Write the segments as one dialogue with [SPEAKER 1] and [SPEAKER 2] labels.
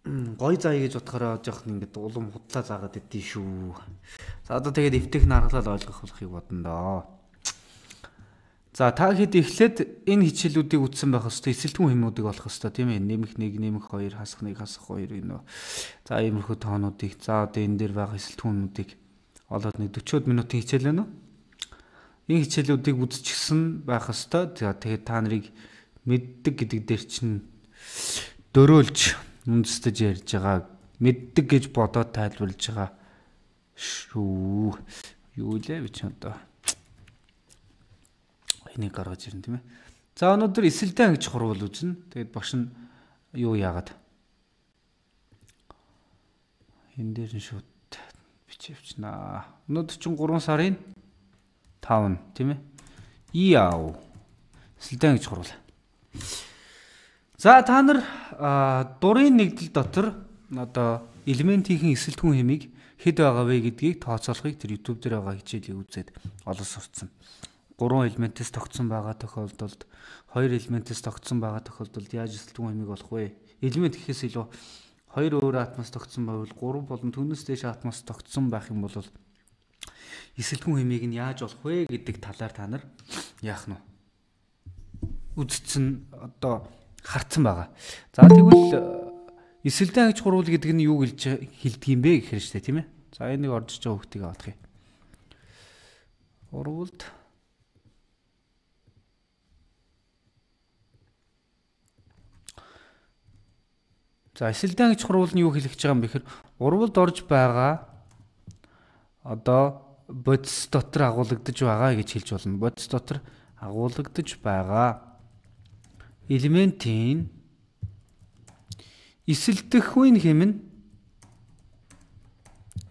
[SPEAKER 1] Гой заа гэж бодохороо жоохон ингээд улам худлаа заагаад идэв шүү. За одоо тэгээд эвтэйх нь аргалал ойлгох болохыг бодно доо. За та хэд эхлээд энэ хичээлүүдийг үтсэн байх хэвээр эсэлтгүүн хэмнүүдийг олох хэвээр тийм ээ. Нэмэх 1, нэмэх 2, хасах 1, хасах 2 гинөө. За иймэрхүү тоонуудыг за одоо энэ дээр байгаа эсэлтгүүнүүдийг олоод нэг 40 минутын хичээл байна уу? Энэ хичээлүүдийг үзчихсэн байх хэвээр. За тэгээд та нарыг мэддэг гэдэг дээр чинь дөрөөлж үндэстэж ярьж байгаа. Мэддэг гэж бодоод тайлбарлаж байгаа шүү. Юу лээ би ч одоо энийг гаргаж ирэн тийм ээ. За өнөөдөр эсэлдэн гэж хурвал үзнэ. Тэгээд багш нь юу яагаад энэ дээр нь шууд бичээвчнаа. Өнөөдөр чинь 3 сарын 5 тийм ээ. Яав. Эсэлдэн гэж хурвал. За та нар дурын нэгдэл дотор одоо элементийн эсэлтгүүн хэмийг хэд байгаа вэ гэдгийг тооцоолохыг тэр YouTube дээр байгаа хичээлийг үзээд олон сурцсан. 3 элементээс тогтсон байгаа тохиолдолд 2 элементээс тогтсон байгаа тохиолдолд яаж эсэлтгүүн хэмийг олох вэ? Элемент гэхээс илүү 2 өөр атомоос тогтсон байвал 3 болон түүнээс дээш атомоос тогтсон байх юм бол эсэлтгүүн хэмийг нь яаж олох вэ гэдэг талаар та нар яах нь үзсэн одоо харцсан байгаа. За тэгвэл эсэлдэн аж хурвал гэдэг нь юу хэлдэг юм бэ гэхээр штэ тийм ээ. За энийг орж иж байгаа хүүхдийг авах юм. Хурвалд за эсэлдэн аж хурвал нь юу хэлэх гэж байгаа юм бэ гэхээр урвалд орж байгаа одоо бодис дотор агуулгадж байгаа гэж хэлж болно. Бодис дотор агуулгадж байгаа элементийн эсэлдэхүйн хэм нь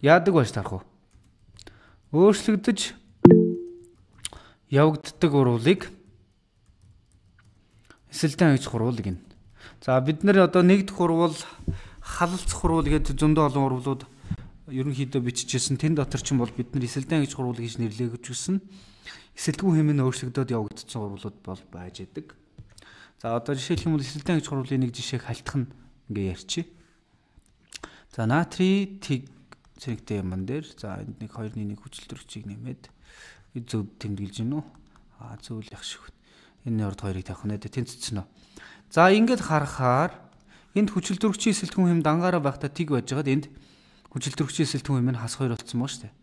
[SPEAKER 1] яадаг байж тарах уу? Өөрчлөгдөж явагддаг урвалыг эсэлдэн аж хурвал гэнэ. За бид нэр одоо нэгдэх урвал, халалцах урвал гэдэг зөндөө олон урвалууд ерөнхийдөө бичижсэн. Тэн дотор ч юм бол бид нар эсэлдэн аж хурвал гэж нэрлэж гисэн. Эсэлдэггүй хэм нь өөрчлөгдөд явагдсан урвалууд бол байж идэг. За одоо жишээлх юм бол эсэлдэн аж хурвалын нэг жишээг халтах нь ингээ ярьчих. За натрий тэг цэнэгтэй юм дээр за энд нэг 2-1 хүчилтөрөгчийг нэмээд зөв тэмдэглэж гинөө. Зөв л ях шиг. Энэ урд 2-ыг тавих нэ тэнцсэн үү. За ингээд харахаар энд хүчилтөрөгчийн эсэлтгүүн хэм дангаараа байхдаа тэг байж байгаад энд хүчилтөрөгчийн эсэлтгүүн хэм нь хас 2 болсон мөн шүү дээ.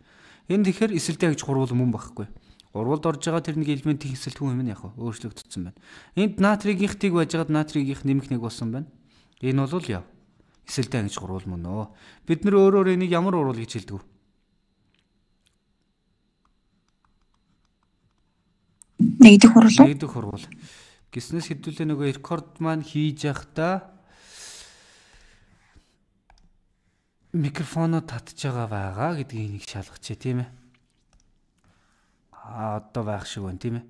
[SPEAKER 1] Энд тэгэхээр эсэлдэн аж хурвал мөн байхгүй. Урвалд орж байгаа тэр нэг элементийн эсэлтгүүн хэм нь яг өөрчлөгдсөн байна. Энд натригийнх тэг байж байгаад натригийнх нэмэх 1 болсон байна. Энэ бол яв. Эсэлдэн аж хурвал мөн өө. Бид нар өөрөөр энийг ямар урвал гэж хэлдэг вэ?
[SPEAKER 2] Нэгдэх хурвал.
[SPEAKER 1] Нэгдэх хурвал. Гиснээс хэдүүлээ нөгөө рекорд маань хийж явахдаа микрофоноо татж байгаа гэдгийг нэг шалгачээ тийм ээ. Одоо байх шиг байна тийм ээ.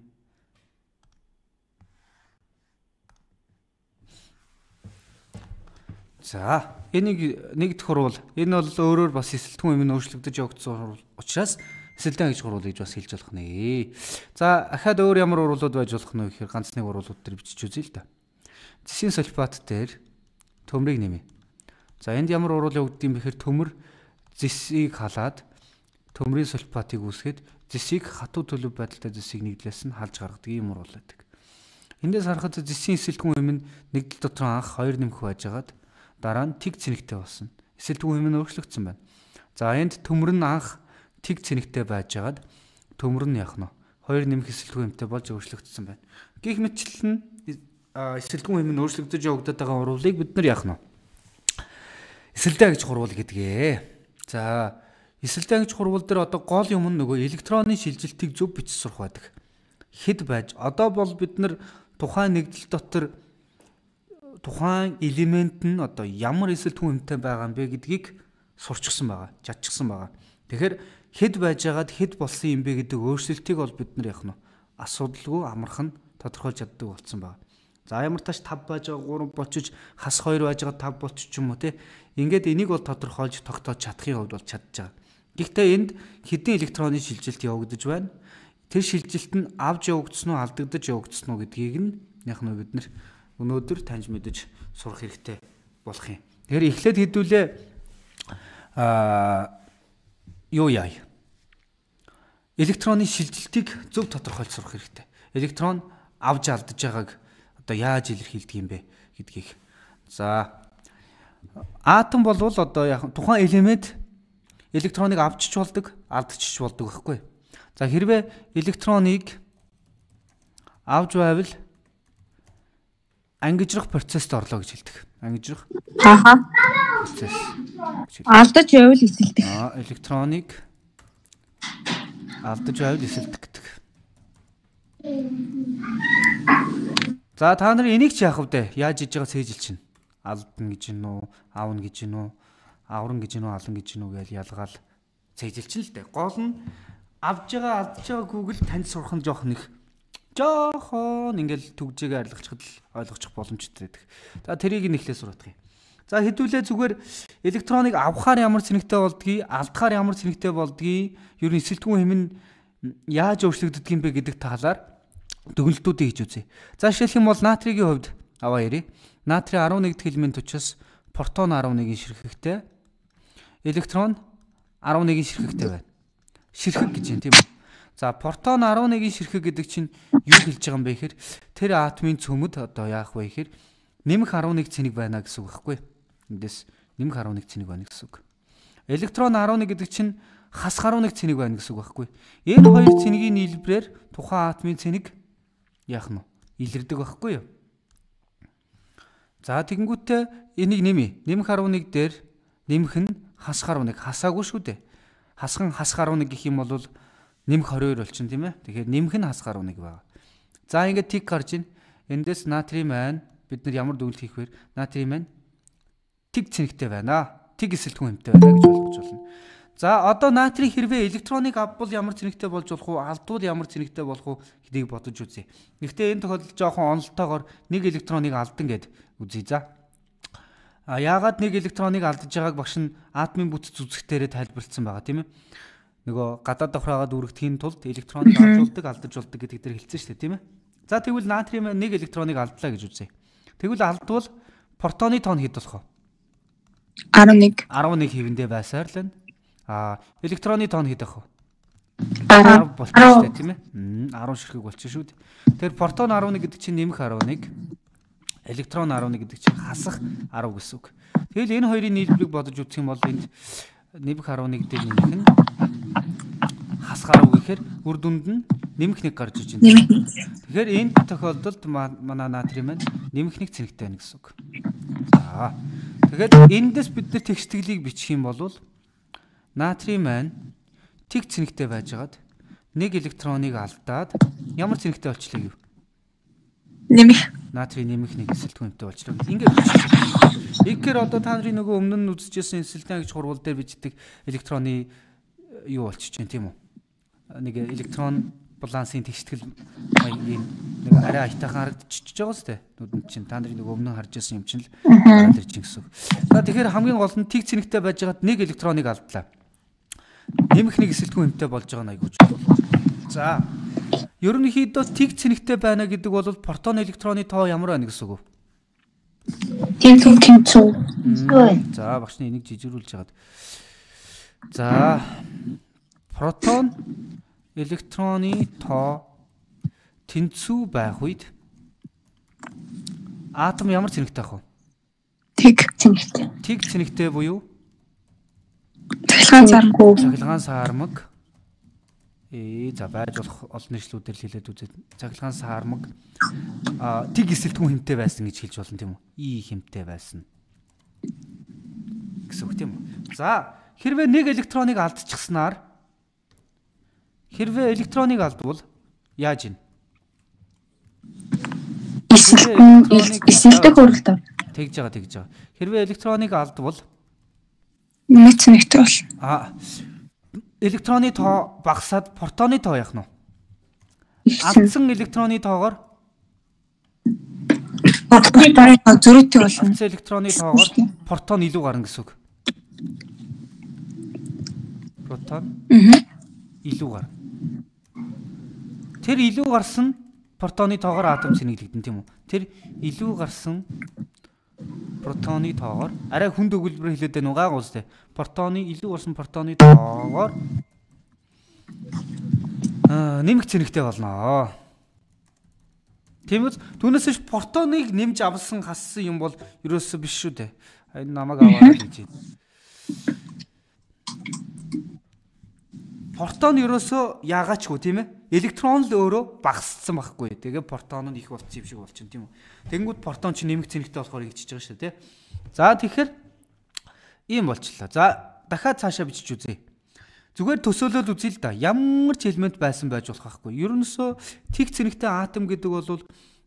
[SPEAKER 1] За энийг нэгдэх хурвал энэ бол өөрөөр бас эсэлтгүүн юм өөрчлөгдөж явагдсан хурвал учраас эсэлдэн аж хурвал гэж бас хэлж болох нэ. За ахаад өөр ямар урвалууд байж болох нь вэ гэхээр ганц нэг урвалууд төр бичиж үзье л да. Зэсийн сульфат дээр төмрийг нэмье. За энд ямар урвал явагддаг юм бэхээр төмөр зэсийг халаад төмрийн сульфатыг үүсгээд зэсийг хатуу төлөв байдалтай зэсийг нэгдлээс нь халж гаргадаг юм урвал байдаг. Эндээс харахад зэсийн эсэлтгүүн хэм нь нэгдэл дотор анх 2 нэмэх байжгаад дараа нь тэг цэнэгтэй болсон. Эсэлтгүүн хэм нь өөрчлөгдсөн байна. За энд төмөр нь анх тэг цэнэгтэй байжгаад төмөр нь яах нь 2 нэмэх эсэлтгүүн хэмтэй болж өөрчлөгдсөн байна. Гэх мэтчлэн эсэлтгүүн хэм нь өөрчлөгдөж явагдаад байгаа урвалыг бид нар яах нь эсэлдэн аж хурвал гэдгээ. За эсэлдэн аж хурвал дээр одоо гол юм нь нөгөө электроны шилжилтийг зөв бичиж сурах байдаг. Хэд байж одоо бол бид нар тухайн нэгдэл дотор тухайн элемент нь одоо ямар эсэлтгүүн хэмтэй байгаа юм бэ гэдгийг сурчсан байгаа, чадчихсан байгаа. Тэгэхээр хэд байж байгаад хэд болсон юм бэ гэдэг өөрчлөлтийг бол бид нар яах нь асуудалгүй амархан тодорхойлж чаддаг болсон байгаа. За ямар тааш 5 байж байгаа 3 болчих хас 2 байж байгаа 5 болчих ч юм уу те. Ингээд энийг бол тодорхойлж тогтоож чадахын хувьд бол чадж байгаа. Гэхдээ энд хэдэн электроны шилжилт явагдаж байна. Тэр шилжилт нь авж явагдсан уу алдагдаж явагдсан уу гэдгийг нь яг нь бид нар өнөөдөр таньж мэдэж сурах хэрэгтэй болох юм. Тэгэхээр эхлээд хэдүүлээ юу яа. Электроны шилжилтийг зөв тодорхойлж сурах хэрэгтэй. Электрон авж алдаж байгааг одоо яаж илэрхийлдэг юм бэ гэдгийг. За атом болвол одоо яг тухайн элемент электроныг авчиж болдог, алдчихж болдог байхгүй. За хэрвээ электроныг авж байвал ангижрах процесст орлоо гэж хэлдэг. Ангижрах процесс.
[SPEAKER 2] Алдаж байвал эсэлдэх.
[SPEAKER 1] Электроныг алдаж байвал эсэлдэх гэдэг. За та нар энийг ч яах вэ? Яаж хийж байгаа цээжил чинь? Алдна гэж гин үү, аавна гэж гин үү, авран гэж гин үү, алан гэж гин үү гэж ялгаал цээжил чинь л дээ. Гол нь авж байгаа алдж байгаа Google танд сурах нь жоох нэг жоохон ингээл түгжээгээ арилгачихад л ойлгочих боломжтой байдаг. За тэрийг нэхлээ сурах юм. За хэдүүлээ зүгээр электроныг авахаар ямар цэнэгтэй болдгийг, алдахаар ямар цэнэгтэй болдгийг, ер нь эсэлтгүүн хэм нь яаж өөрчлөгддөг юм бэ гэдэг талаар дүгнэлтүүдийг хийж үзье. За жишээлх юм бол натригийн хувьд аваа ярив. Натри 11 дэх элемент учраас протон 11-ийн ширхэгтэй, электрон 11-ийн ширхэгтэй байна. Ширхэг гэж юм тийм үү? За протон 11-ийн ширхэг гэдэг чинь юу хэлж байгаа юм бэ гэхээр тэр атомын цөмөд одоо яах вэ гэхээр нэмэх 11 цэник байна гэсэн үг байхгүй. Эндээс нэмэх 11 цэник байна гэсэн үг. Электрон 11 гэдэг чинь хасах 11 цэник байна гэсэн үг байхгүй. Энэ хоёр цэнигийн нийлбэрээр тухайн атомын цэник яах нь илэрдэг байхгүй юу? За тэгэнгүүтээ энийг нэмье. Нэмэх 11 дээр нэмэх нь хасах 11 хасаагүй шүү дээ. Хасхан хасах 11 гэх юм бол нэмэх 22 болчихно тийм ээ. Тэгэхээр нэмэх нь хасах 11 байна. За ингээд тик гарч ийн. Эндээс натрий маань бид нар ямар дүгнэлт хийх вэ? Натрий маань тиг цэнэгтэй байна. Тиг эсэлтгүүн хэмтэй байна гэж ойлгож байна. За одоо натрий хэрвээ электроныг авбал ямар цэнэгтэй болж болох уу? Алдвал ямар цэнэгтэй болох уу гэдгийг бодож үзье. Гэхдээ энэ тохиолдолд жоохон онолтойгоор нэг электроныг алдан гэд үзье за. Яагаад нэг электроныг алдаж байгааг багш нь атомын бүтц үзэхтээрээ тайлбарлсан байгаа тийм ээ. Нөгөө гадаад давхраагаа дүүргэхийн тулд электроныг авчулдаг, алдаж болдог гэдэг дээр хэлсэн шүү дээ тийм ээ. За тэгвэл натрий маань нэг электроныг алдлаа гэж үзье. Тэгвэл алдвал протоны тоон хэд болох вэ?
[SPEAKER 2] 11.
[SPEAKER 1] 11 хэвэндээ байсаар л байна. Электроны тоон хэд ах вэ?
[SPEAKER 2] 10
[SPEAKER 1] болчихсон тийм ээ. 10 ширхэг болчихсон шүү дээ. Тэгэхээр протон 11 гэдэг чинь нэмэх 11, электрон 11 гэдэг чинь хасах 10 гэсэн үг. Тэгэл энэ хоёрын нийлбэрийг бодож үзэх юм бол энд нэмэх 11 дээр нэмэх нь хасах 10 гэхээр үр дүнд нь нэмэх 1 гарч иж байна. Тэгэхээр энэ тохиолдолд манай натрий маань нэмэх 1 цэнэгтэй байна гэсэн үг. За. Тэгэхээр эндээс бид нар тэгштгэлийг бичих юм бол натрий маань тиг цэнэгтэй байжгаад нэг электроныг алдаад ямар цэнэгтэй болчихлоо гэв?
[SPEAKER 2] Нэмэх.
[SPEAKER 1] Натрий нэмэх 1 эсэлтгүүнтэй болчихлоо. Ингээд бичих. Тэгэхээр одоо та нарын нөгөө өмнө нь үзчихсэн эсэлтэн гэж хурвал дээр бичдэг электроны юу болчих чинь тийм үү? Нэг электрон балансын тэгштгэл маягийн нэг арай аятайхан харагдчихж байгаа сте. Нүдэнд чинь та нарын нөгөө өмнө харж байсан юм чинь л гараад ирж гисэн. За тэгэхээр хамгийн гол нь тиг цэнэгтэй байжгаад нэг электроныг алдлаа. Нэмэх 1 эсэлтгүүн хэмтэй болж байгаа нь айгууч. За ерөнхийдөө тиг цэнэгтэй байна гэдэг бол протон электроны тоо ямар байна гэсэн үг вэ?
[SPEAKER 2] Тэнцүү.
[SPEAKER 1] За багшны энийг жижигрүүлж хагаад. За протон электроны тоо тэнцүү байх үед атом ямар цэнэгтэй ах вэ?
[SPEAKER 2] Тиг цэнэгтэй.
[SPEAKER 1] Тиг цэнэгтэй буюу
[SPEAKER 2] цахилгаан сармаг.
[SPEAKER 1] Цахилгаан сармаг. За байж болох олон нийтлүүдээр л хэлээд үзээд цахилгаан сармаг тиг эсэлтгүүн хэмтэй байсан гэж хэлж болно тийм үү? И хэмтэй байсан гэсэн үг тийм үү? За хэрвээ нэг электроныг алдчихснаар хэрвээ электроныг алдвал яаж ийн?
[SPEAKER 2] Эсэлдэх хөрөлтөөр.
[SPEAKER 1] Тэгж байгаа. Хэрвээ электроныг алдвал
[SPEAKER 2] нэмэх цэнэгтэй бол.
[SPEAKER 1] Электроны тоо багасаад протоны тоо яах нь вэ? Алдсан электроны тоогоор
[SPEAKER 2] протоны тоо зөрүүтэй болно.
[SPEAKER 1] Алдсан электроны тоогоор протон илүү гарна гэсэн үг. Протон илүү гарна. Тэр илүү гарсан протоны тоогоор атом цэнэглэгдэн тийм үү? Тэр илүү гарсан протоны тоогоор арай хүнд өгүүлбэр хэлээд байна уу гайгуус те. Протоны илүү орсон протоны тоогоор нэмэх цэнэгтэй болно. Тиймээс түүнээс протоныг нэмж авсан хассан юм бол ерөөсөө биш шүү дээ. Энэ намайг аваад хэлж байна. Протон ерөөсөө яагаачгүй тийм ээ. Электрон л өөрөө багассан байхгүй. Тэгээ протон нь их болчих юм шиг болчихно тийм үү. Тэгэнгүүт протон ч нэмэх цэнэгтэй болохоор игчиж байгаа шүү дээ. За тэгэхээр ийм болчихлоо. За дахиад цаашаа бичиж үзье. Зүгээр төсөөлөл үзье л да. Ямар ч элемент байсан байж болох байхгүй. Ерөнөсөө тэг цэнэгтэй атом гэдэг бол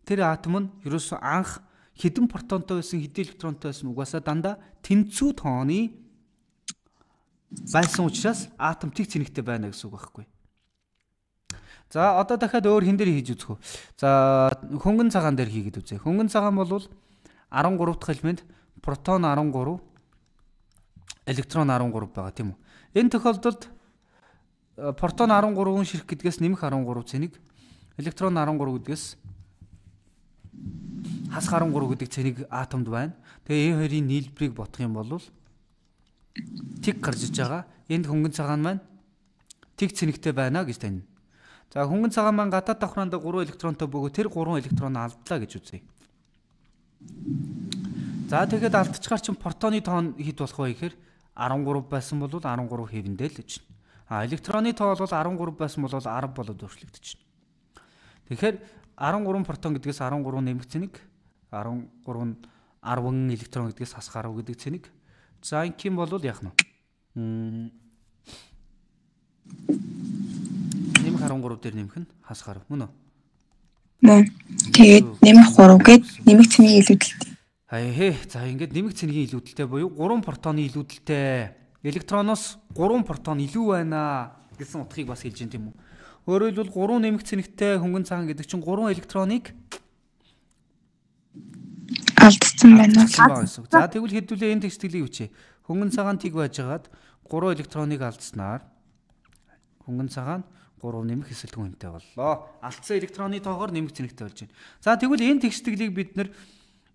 [SPEAKER 1] тэр атом нь ерөөсөө анх хэдэн протонтой байсан, хэдэн электронтой байсан угаасаа дандаа тэнцүү тооны байсан учраас атом тэг цэнэгтэй байна гэсэн үг байхгүй. За одоо дахиад өөр хин дээр хийж үзэх үү. За хөнгөн цагаан дээр хийгээд үзье. Хөнгөн цагаан бол 13 дахь элемент протон 13, электрон 13 байгаа тийм үү. Энэ тохиолдолд протон 13-ын ширх гэдгээс нэмэх 13 цэнийг, электрон 13 гэдгээс хас 13 гэдэг цэнийг атомд байна. Тэгээ энэ хоёрын нийлбэрийг бодох юм бол тэг гарч иж байгаа. Энд хөнгөн цагаан маань тэг цэнэгтэй байна гэж таньна. За хөнгөн цагаан маань гадаад давхраанд 3 электронтой бөгөөд тэр 3 электрон алдлаа гэж үзье. За тэгэхэд алдчихгаар чинь протоны тоон хэд болох вэ гэхээр 13 байсан бол 13 хэвэндээ л гэж байна. Электроны тоо бол 13 байсан бол 10 болоод өөрчлөгдөж байна. Тэгэхээр 13 протон гэдгээс 13 нэмэх цэник, 13 10 электрон гэдгээс хас 10 гэдэг цэник. За инким бол яах нь вэ? Нэмэх 13 дээр нэмэх нь хас 10 мөн үү?
[SPEAKER 2] Мөн. Тэгээд нэмэх 3 гээд нэмэх цэнийг илүүдэлтэй.
[SPEAKER 1] За ингээд нэмэх цэнийг илүүдэлтэй буюу 3 протоны илүүдэлтэй. Электроноос 3 протон илүү байна гэсэн утгыг бас хэлж байна тийм үү? Өөрөөр хэлбэл 3 нэмэх цэнэгтэй хөнгөн цагаан гэдэг чинь 3 электроныг
[SPEAKER 2] алдсан байна.
[SPEAKER 1] За тэгвэл хэдүүлээ энэ текстилийг бичээ. Хөнгөн цагаан тэг байжгаад 3 электроныг алдснаар хөнгөн цагаан 3 нэмэх эсэлтгүүн хэмтэй боллоо. Алдсан электроны тоогоор нэмэх цэнэгтэй болж байна. За тэгвэл энэ текстилийг бид нэр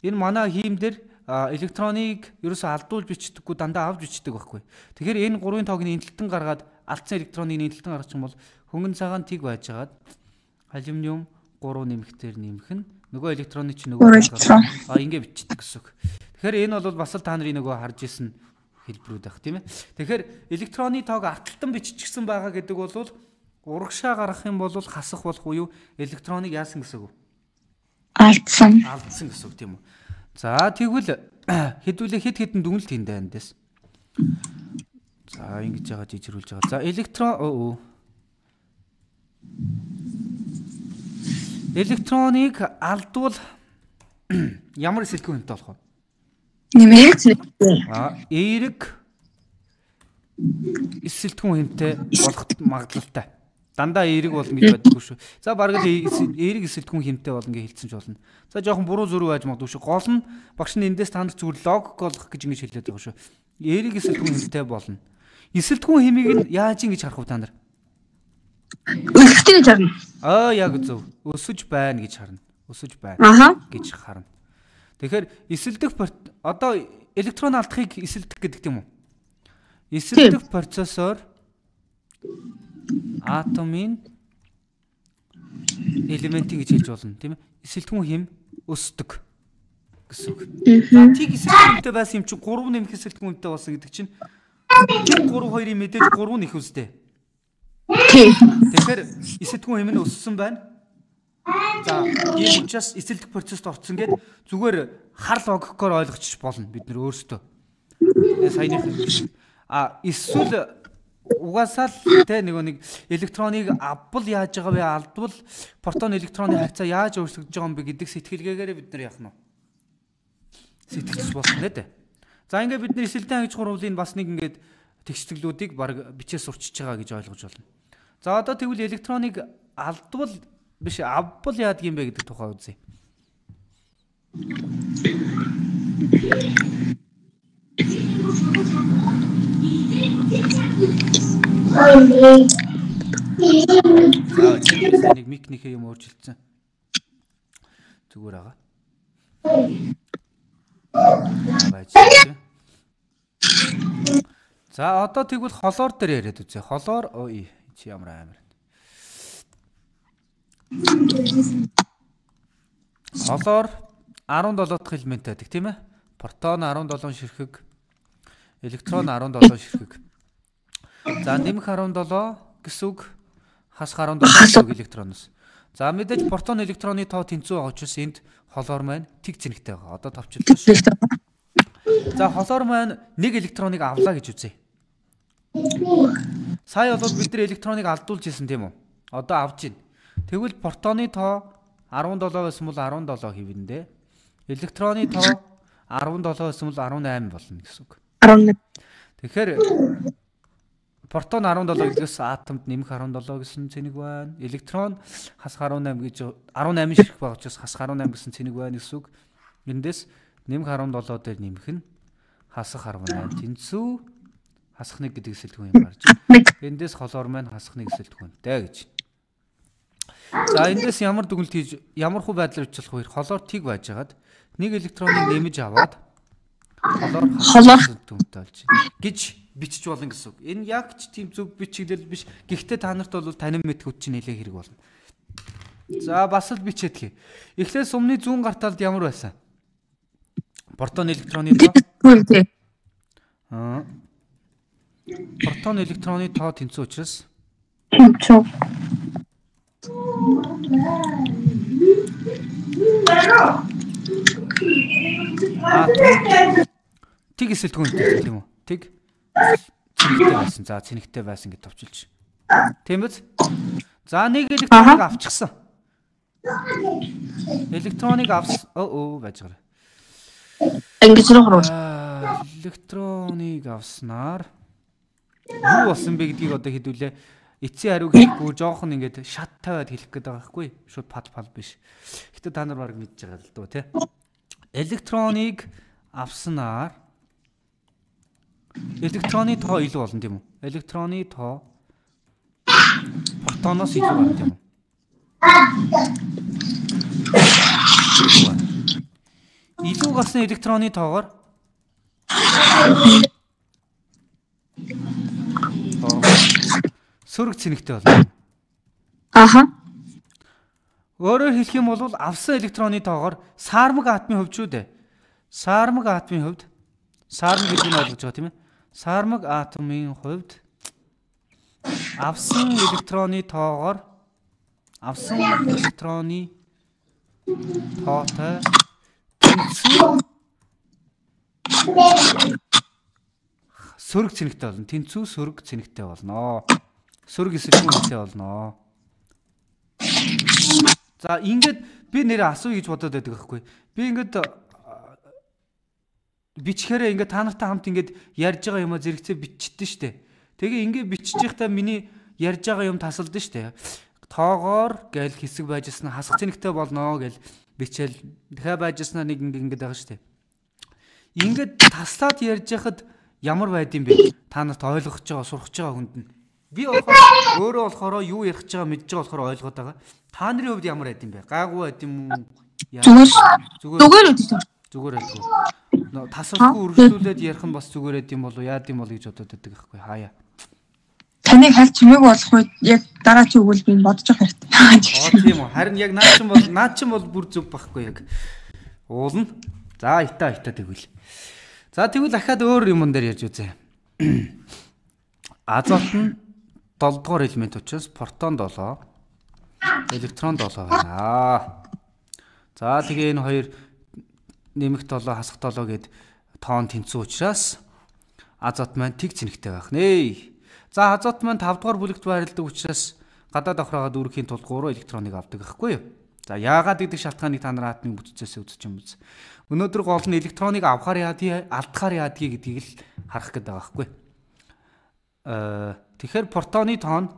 [SPEAKER 1] энэ манай хиймдэр электроныг ерөөсөө алдуулж бичдэггүй дандаа авч бичдэг байхгүй. Тэгэхээр энэ 3-ын тоог нь энтэлтэн гаргаад алдсан электроныг энтэлтэн гаргачих юм бол хөнгөн цагаан тэг байжгаад алюминиум 3 нэмэхтэр нэмэх нь нөгөө электроны чинь нөгөө ингэ бичдэг гэсэн үг. Тэгэхээр энэ бол бас л та нарын нөгөө харж исэн хэлбэрүүд байх тийм ээ. Тэгэхээр электроны тоог арталтан биччихсэн байгаа гэдэг бол урагшаа гаргах юм бол хасах болох уу электроныг яасан гэсэн үг?
[SPEAKER 2] Алдсан
[SPEAKER 1] гэсэн үг тийм үү. За тэгвэл хэдүүлээ хэд хэдэн дүгнэлт хийндэ эндээс. За ингэж яагаад жижигрүүлж байгаа. За электроныг алдвал ямар эсэлтгүүн хэмтэй болох вэ?
[SPEAKER 2] Нэмэх
[SPEAKER 1] эерэг эсэлтгүүн хэмтэй болох магадлалтай. Дандаа эерэг болно гэж байдаггүй шүү. За бараг л эерэг эсэлтгүүн хэмтэй болно гэж хэлсэн ч болно. За жоохон буруу зөрүү байж магадгүй шүү. Гол нь багш нь эндээс та нарт зүгээр логик болгох гэж ингэж хэлээд байгаа шүү. Эерэг эсэлтгүүн хэмтэй болно. Эсэлтгүүн хэмийг нь яаж ингэж харах вэ та нар?
[SPEAKER 2] Өсөлтөө гэж харна.
[SPEAKER 1] Яг зөв. Өсөж байна гэж харна. Өсөж байна гэж харна. Тэгэхээр эсэлдэх одоо электрон алдахыг эсэлдэх гэдэг юм уу? Эсэлдэх процессор атомын элементийн гэж хэлж болно, тийм ээ? Эсэлтгүүн хэм өсдөг гэсэн үг. За тийг эсэлтгүүнтэй байсан юм чинь 3 нэмэх эсэлтгүүнтэй болсон гэдэг чинь 3 2-ын мэдээж 3 нэх үстэй. Тэгэхээр эсэлтгүүн хэм нь өссөн байна. За ийм учраас эсэлдэх процесст орсон гэд зүгээр хар логикоор ойлгочих болно бид нэр өөрсдөө. Саяных эсвэл угаасаа л тэ нэг электроныг авбал яаж байгаа вэ? Алдвал протон электроны харьцаа яаж өөрчлөгдөж байгаа юм бэ гэдэг сэтгэлгээгээр бид нар яах нь вэ? Сэтгэлж болох нэ тэ. За ингээд бид нар эсэлтэн ангиж гурвын бас нэг ингээд тэгшлүүдийг баг бичээс сурчиж байгаа гэж ойлгож байна. За одоо тэгвэл электроныг алдвал биш авбал яадаг юм бэ гэдэг тухай үзье. Нэг микнийхээ юм өөрчилсөн. Зүгээр байгаа. байж байна. За одоо тэгвэл холоор дээр яриад үзье. Холоор ой чи ямар амар. Холоор 17 дахь элемент байдаг тийм ээ. Протон 17 ширхэг, электрон 17 ширхэг. За нэмэх 17 гэсэн үг хасах 17 гэсэн үг электроноос. За мэдээж протон электроны тоо тэнцүү байгаа учраас энд холоор маань тэг цэнэгтэй байгаа. Одоо товчлоо. За холоор маань нэг электроныг авлаа гэж үзье. Сая бол бид нар электроныг алдуулж ирсэн тийм үү? Одоо авж байна. Тэгвэл протоны тоо 17 байсан бол 17 хэвэндээ. Электроны тоо 17 байсан бол 18 болно гэсэн үг.
[SPEAKER 2] 11.
[SPEAKER 1] Тэгэхээр протон 17 гэдгээс атомд нэмэх 17 гэсэн цэник байна. Электрон хасах 18 гэж 18 ширхэг байгаа учраас хасах 18 гэсэн цэник байна гэсэн үг. Эндээс нэмэх 17 дээр нэмэх нь хасах 18 тэнцүү хасах 1 гэдэг эсэлтгүүн юм гарч байна. Эндээс холоор маань хасах 1 эсэлтгүүнтэй гэж. За эндээс ямар дүгнэлт хийж ямар хүү байдлаар бичлэх вэ? Холоор тэг байж хагаад нэг электроныг нэмэж аваад холоор дүнтэй болж байна гэж бичиж болно гэсэн үг. Энэ яг ч тийм зөв бичиглэл биш. Гэхдээ та нарт бол танин мэд хүч чинь нэлээ хэрэг болно. За бас л бичээдгий. Эхлээд сумны зүүн гарталд ямар байсан? Протон электроны тоо. Протон электроны тоо тэнцүү учраас
[SPEAKER 2] тэнцүү.
[SPEAKER 1] Тэг эсэлтгүүнтэй тийм үү? Тэг цэнэгтэй байсан. За цэнэгтэй байсан гэж товчилж. Тийм биз? За нэг электроныг авчихсан. Электроныг авсан. Байж байгаа.
[SPEAKER 2] Ингэж рүү хөрвөл.
[SPEAKER 1] Электроныг авснаар юу болсон бэ гэдгийг одоо хэдүүлээ. Эцсийн хариуг хэлэхгүй жоохон ингээд шат тавиад хэлэх гээд байгаа байхгүй. Шууд пал биш. Гэтэ та нар баг мэдж байгаа л дөө тий. Электроныг авснаар электроны тоо илүү болно тийм үү? Электроны тоо протоноос илүү байна тийм үү? Илүү гарсан электроны тоогоор сөрөг цэнэгтэй болно.
[SPEAKER 2] Аха.
[SPEAKER 1] Өөрөөр хэлэх юм бол авсан электроны тоогоор саармаг атомын хувьд шүү дээ. Саармаг атомын хувьд саармаг гэдэг нь ойлгож байгаа тийм ээ? Саармаг атомын хувьд авсан электроны тоогоор авсан электроны тоотой тэнцүү сөрөг цэнэгтэй болно. Тэнцүү сөрөг цэнэгтэй болно. Сөрөг эсэлтгүүнтэй болно. За ингээд би нэрээ асуу гэж бодоод байдаг байхгүй. Би ингээд бичгээрээ ингээд та нартай хамт ингээд ярьж байгаа юмаа зэрэгцээ биччихсэн шүү дээ. Тэгээ ингээд бичиж байхдаа миний ярьж байгаа юм тасалдсан шүү дээ. Тоогоор гээл хэсэг байжсэн хасах цэнэгтэй болно гэл бичээл дахиад байжснаа нэг ингээд байгаа шүү дээ. Ингээд таслаад ярьж байхад ямар байд юм бэ? Та нарт ойлгох гэж байгаа, сурах гэж байгаа хүнд нь. Би өөрөө болохоор юу ярих гэж байгаа мэдж байгаа болохоор ойлгоод байгаа. Та нарын хувьд ямар байд юм бэ? Гайгүй байд юм уу? Зүгээр байдгүй. Тасалгүй өргөжлүүлээд ярих нь бас зүгээр байд юм болов яад юм бол гэж бодоод байдаг байхгүй хаяа.
[SPEAKER 2] Таныг хальт чимээг болох үед яг дараа чи өгвөл би бодож байгаа хэрэгтэй.
[SPEAKER 1] Тийм үү. Харин яг наад чинь бол бүр зөв байхгүй яг. Уулна. За итаа тэгвэл. За тэгвэл дахиад өөр юм дээр ярьж үзье. Азот нь 7 дугаар элемент учраас протон 7, электрон 7 байна. За тэгээ энэ хоёр нэмэх 7 хасах 7 гээд тоон тэнцүү учраас азот маань тэг цэнэгтэй байх нэ. За азот маань 5 дугаар бүлэгт байрладаг учраас гадаад давхраагаад үүрхийн тулд 3 электроныг авдаг байхгүй юу? За яагаад гэдэг шалтгааныг та нар атомын бүтцээс үзэж юм биз. Өнөөдөр гол нь электроныг авахаар яадгийг, алдахаар яадгийг гэдгийг л харах гэдэг байгаа байхгүй. Тэгэхээр протоны тоон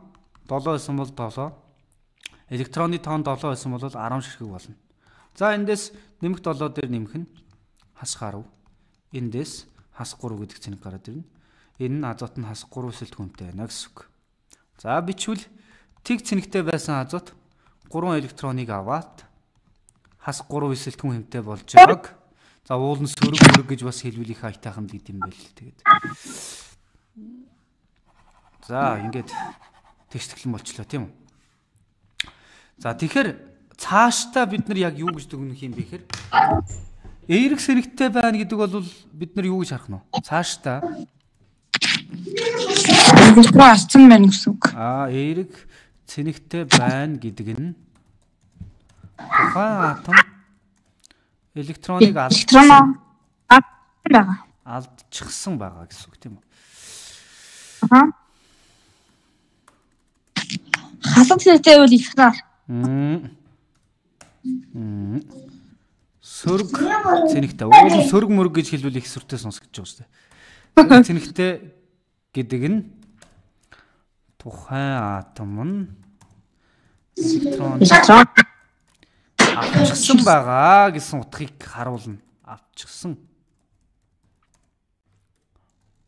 [SPEAKER 1] 7 байсан бол 7, электроны тоон 7 байсан бол 10 ширхэг болно. За эндээс нэмэх 7 дээр нэмэх нь хасах 10. Эндээс хасах 3 гэдэг цэнэг гараад ирнэ. Энэ нь азот нь хасах 3 эсэлтгүүнтэй байна гэсэн үг. За бичвэл тэг цэнэгтэй байсан азот 3 электроныг аваад хасах 3 эсэлтгүүн хэмтэй болж байгааг За уул нь сөрөг гэж бас хэлвэл их айтайхан гэдэг юм байл л тэгээд. За ингээд тэгштэглэн болчлоо тийм үү. За тэгэхээр цаашдаа бид нар яг юу гэж дүгнэх юм бэ гэхээр эерэг сэрэгтэй байна гэдэг бол бид нар юу гэж харах нь вэ? Цаашдаа
[SPEAKER 2] электрон алцсан байна гэсэн үг.
[SPEAKER 1] Эерэг цэнэгтэй байна гэдэг нь тухайн атом электроныг алдчихсан байгаа гэсэн үг тийм үү?
[SPEAKER 2] Хасаг цэнэгтэй бол электрон.
[SPEAKER 1] Сөрөг цэнэгтэй. Уул нь сөрөг мөрөг гэж хэлвэл их сүртэй сонсгож байгаа шүү дээ. Цэнэгтэй гэдэг нь тухайн атом нь электрон авчихсан байгаа гэсэн утгыг харуулна. Авчихсан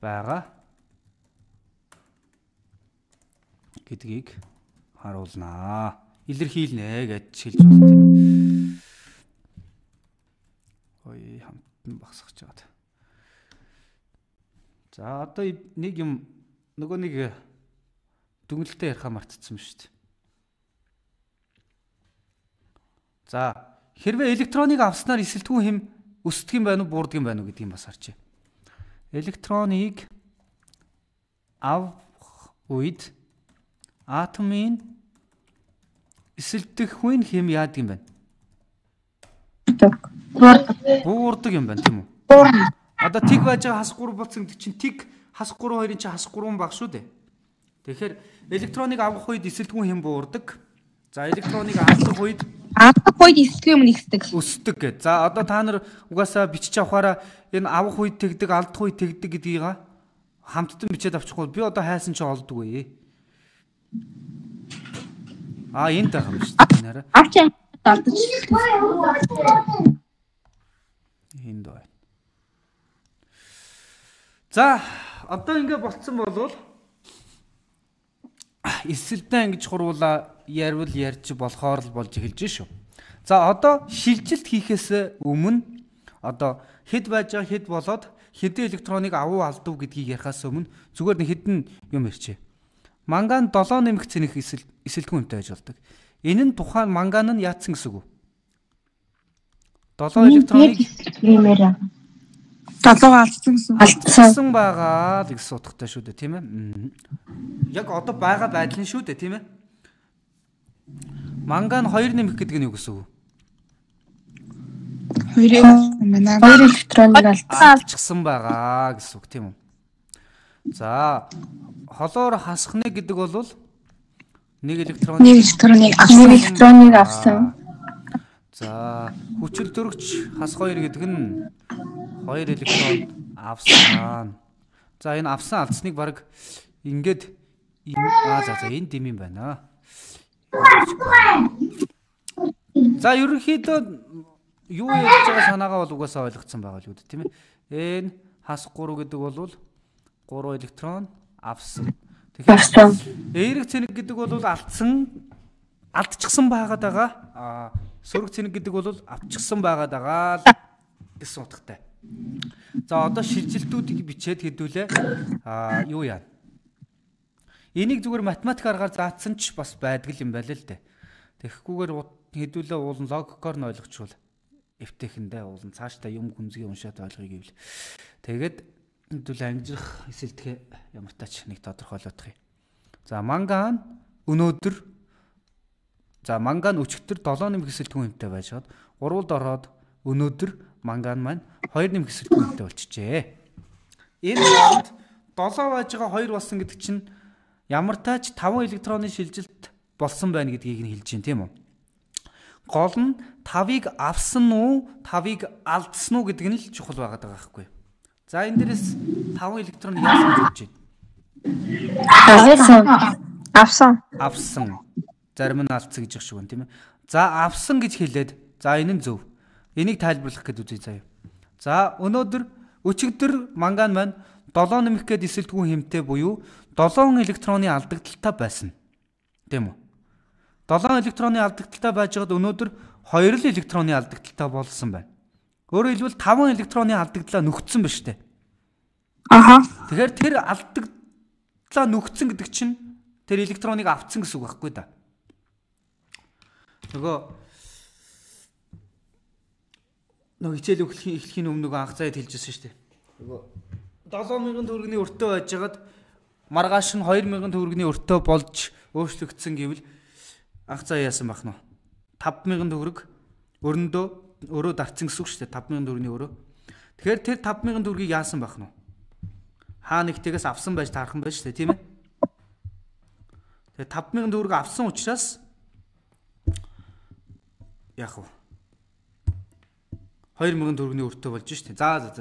[SPEAKER 1] байгаа гэдгийг харуулнаа. Илэрхийлнэ гэж хэлж байна тийм ээ. Ой хамтан багсгаж байгаа. За одоо нэг юм нөгөө нэг дүнэлтээ ярихаа мартчихсан шүү дээ. За хэрвээ электроныг авснаар эсэлтгүүн хэм өсдөг юм байна уу, буурдаг юм байна уу гэдгийг бас харчээ. Электроныг авах үед атомын эсэлдэх хүн хэм яадаг юм байна? Буурдаг юм байна тийм үү? Одоо тиг байж байгаа хас 3 болсон гэдэг чинь тиг хас 3 хоёрын чинь хас 3 баг шүү дээ. Тэгэхээр электроныг авах үед эсэлтгүүн хэм буурдаг. За электроныг алдах үед эсэлтгүүн юм өсдөг гэж. За одоо та нар угаасаа бичиж авахаараа энэ авах үед тэгдэг, алдах үед тэгдэг гэдгийг хамттан бичээд авчихгүй. Би одоо хайсан чи олдгүй. Энд байгаа юм шүү дээ нэрэ.
[SPEAKER 2] Авч алдаж.
[SPEAKER 1] Энд байна. За одоо ингэ болцсон болвол эсэлдэн ингэж хуруула ярил ярьж болохоор л болж эхэлж шүү. За одоо шилжилт хийхээс өмнө одоо хэд байж байгаа хэд болоод хэдэн электроныг авуу алдав гэдгийг ярихаас өмнө зүгээр нэг хэдэн юм ярьчээ. Манган 7 нэмэх цэнэх эсэлтгүүн юмтай байж болдог. Энэ нь тухайн манган нь яатсан гэсэн үг. 7 электроныг
[SPEAKER 2] 7 алдсан
[SPEAKER 1] байгаа гэсэн утгатай шүү дээ тийм ээ. Яг одоо байгаа байдал нь шүү дээ тийм ээ. Манган 2 нэмэх гэдэг нь юу гэсэн үг?
[SPEAKER 2] 2 электроныг
[SPEAKER 1] алдчихсан байгаа гэсэн үг тийм үү? За холоор хасхны гэдэг бол 1 электроныг
[SPEAKER 2] авсан.
[SPEAKER 1] За хүчил дөрөгч хас 2 гэдэг нь 2 электрон авсан. За энэ авсан алдсныг баг ингээд энэ дэм юм байна. За ерөнхийдөө юу ярьж байгаа санаагаа бол угаасаа ойлгоцсон байгаа л үү тийм ээ. Энэ хас 3 гэдэг бол 3 электрон авсан. Тэгэхээр эерэг цэнэг гэдэг бол алдчихсан байгаад байгаа. Сөрөг цэнэг гэдэг бол авчихсан байгаад байгаа гэсэн утгатай. За одоо шилжилтүүдийг бичээд хэдүүлээ. Юу яа? Энийг зүгээр математик аргаар заасан ч бас байдаг юм байл л дээ. Тэгэхгүйгээр хэдүүлээ уулын логикоор нь ойлгочвол эвтэхэндээ уулын цаашдаа юм гүнзгий уншаад ойлгоё гэвэл тэгээд хэдүүлээ ангижрах эсэлтгэ ямар тач нэг тодорхойлох юм. За манган өнөөдөр манган өчигдөр 7 нэмэх эсэлтгүүн юмтай байжгаад 3-д ороод өнөөдөр манган маань 2 нэмэх эсэлтгүүн юмтай болчихжээ. Энэ хооронд 7 байж байгаа 2 болсон гэдэг чинь ямар тач 5 электроны шилжилт болсон байна гэдгийг нь хэлж байна тийм үү? Гол нь 5-ыг авсан уу, 5-ыг алдсан уу гэдэг нь л чухал байгаад байгаа байхгүй. За энэ дээрээс 5 электрон яасан гэж
[SPEAKER 2] авсан.
[SPEAKER 1] Зарим нь алдсан гэж шиг байна тийм ээ. За авсан гэж хэлээд за энэ нь зөв. Энийг тайлбарлах гэдэг үзье заяа. За өчигдөр манган маань 7 нэмэх гээд эсэлтгүүн хэмтэй буюу 7 электроны алдагдaltaй байсан. Тийм үү? 7 электроны алдагдaltaй байжгаад өнөөдөр 2 л электроны алдагдaltaй болсон байна. Өөрөөр хэлбэл 5 электроны алдагдлаа нөхцсөн ба штэ.
[SPEAKER 2] Аха.
[SPEAKER 1] Тэгэхээр тэр алдагдлаа нөхцсөн гэдэг чинь тэр электроныг авцсан гэсэн үг байхгүй да. Нөгөө хичээл эхлэхийн өмнө нөгөө анх заяад хэлжсэн штэ. Нөгөө 7000 төгрөгийн өртөө байжгаад маргааш нь 2000 төгрөгийн өртөө болж өөрчлөгдсөн гэвэл анх заяа яасан байх нь 5000 төгрөг өөрөө дарцсан гэсэн үг шүү дээ 5000 төгрөгийн өөрөө. Тэгэхээр тэр 5000 төгрөгийг яасан байх нь хаа нэгтээс авсан байж таархан байж шүү дээ тийм ээ. Тэгээ 5000 төгрөг авсан учраас яах вэ? 2000 төгрөгийн өртөө болж шүү дээ. За.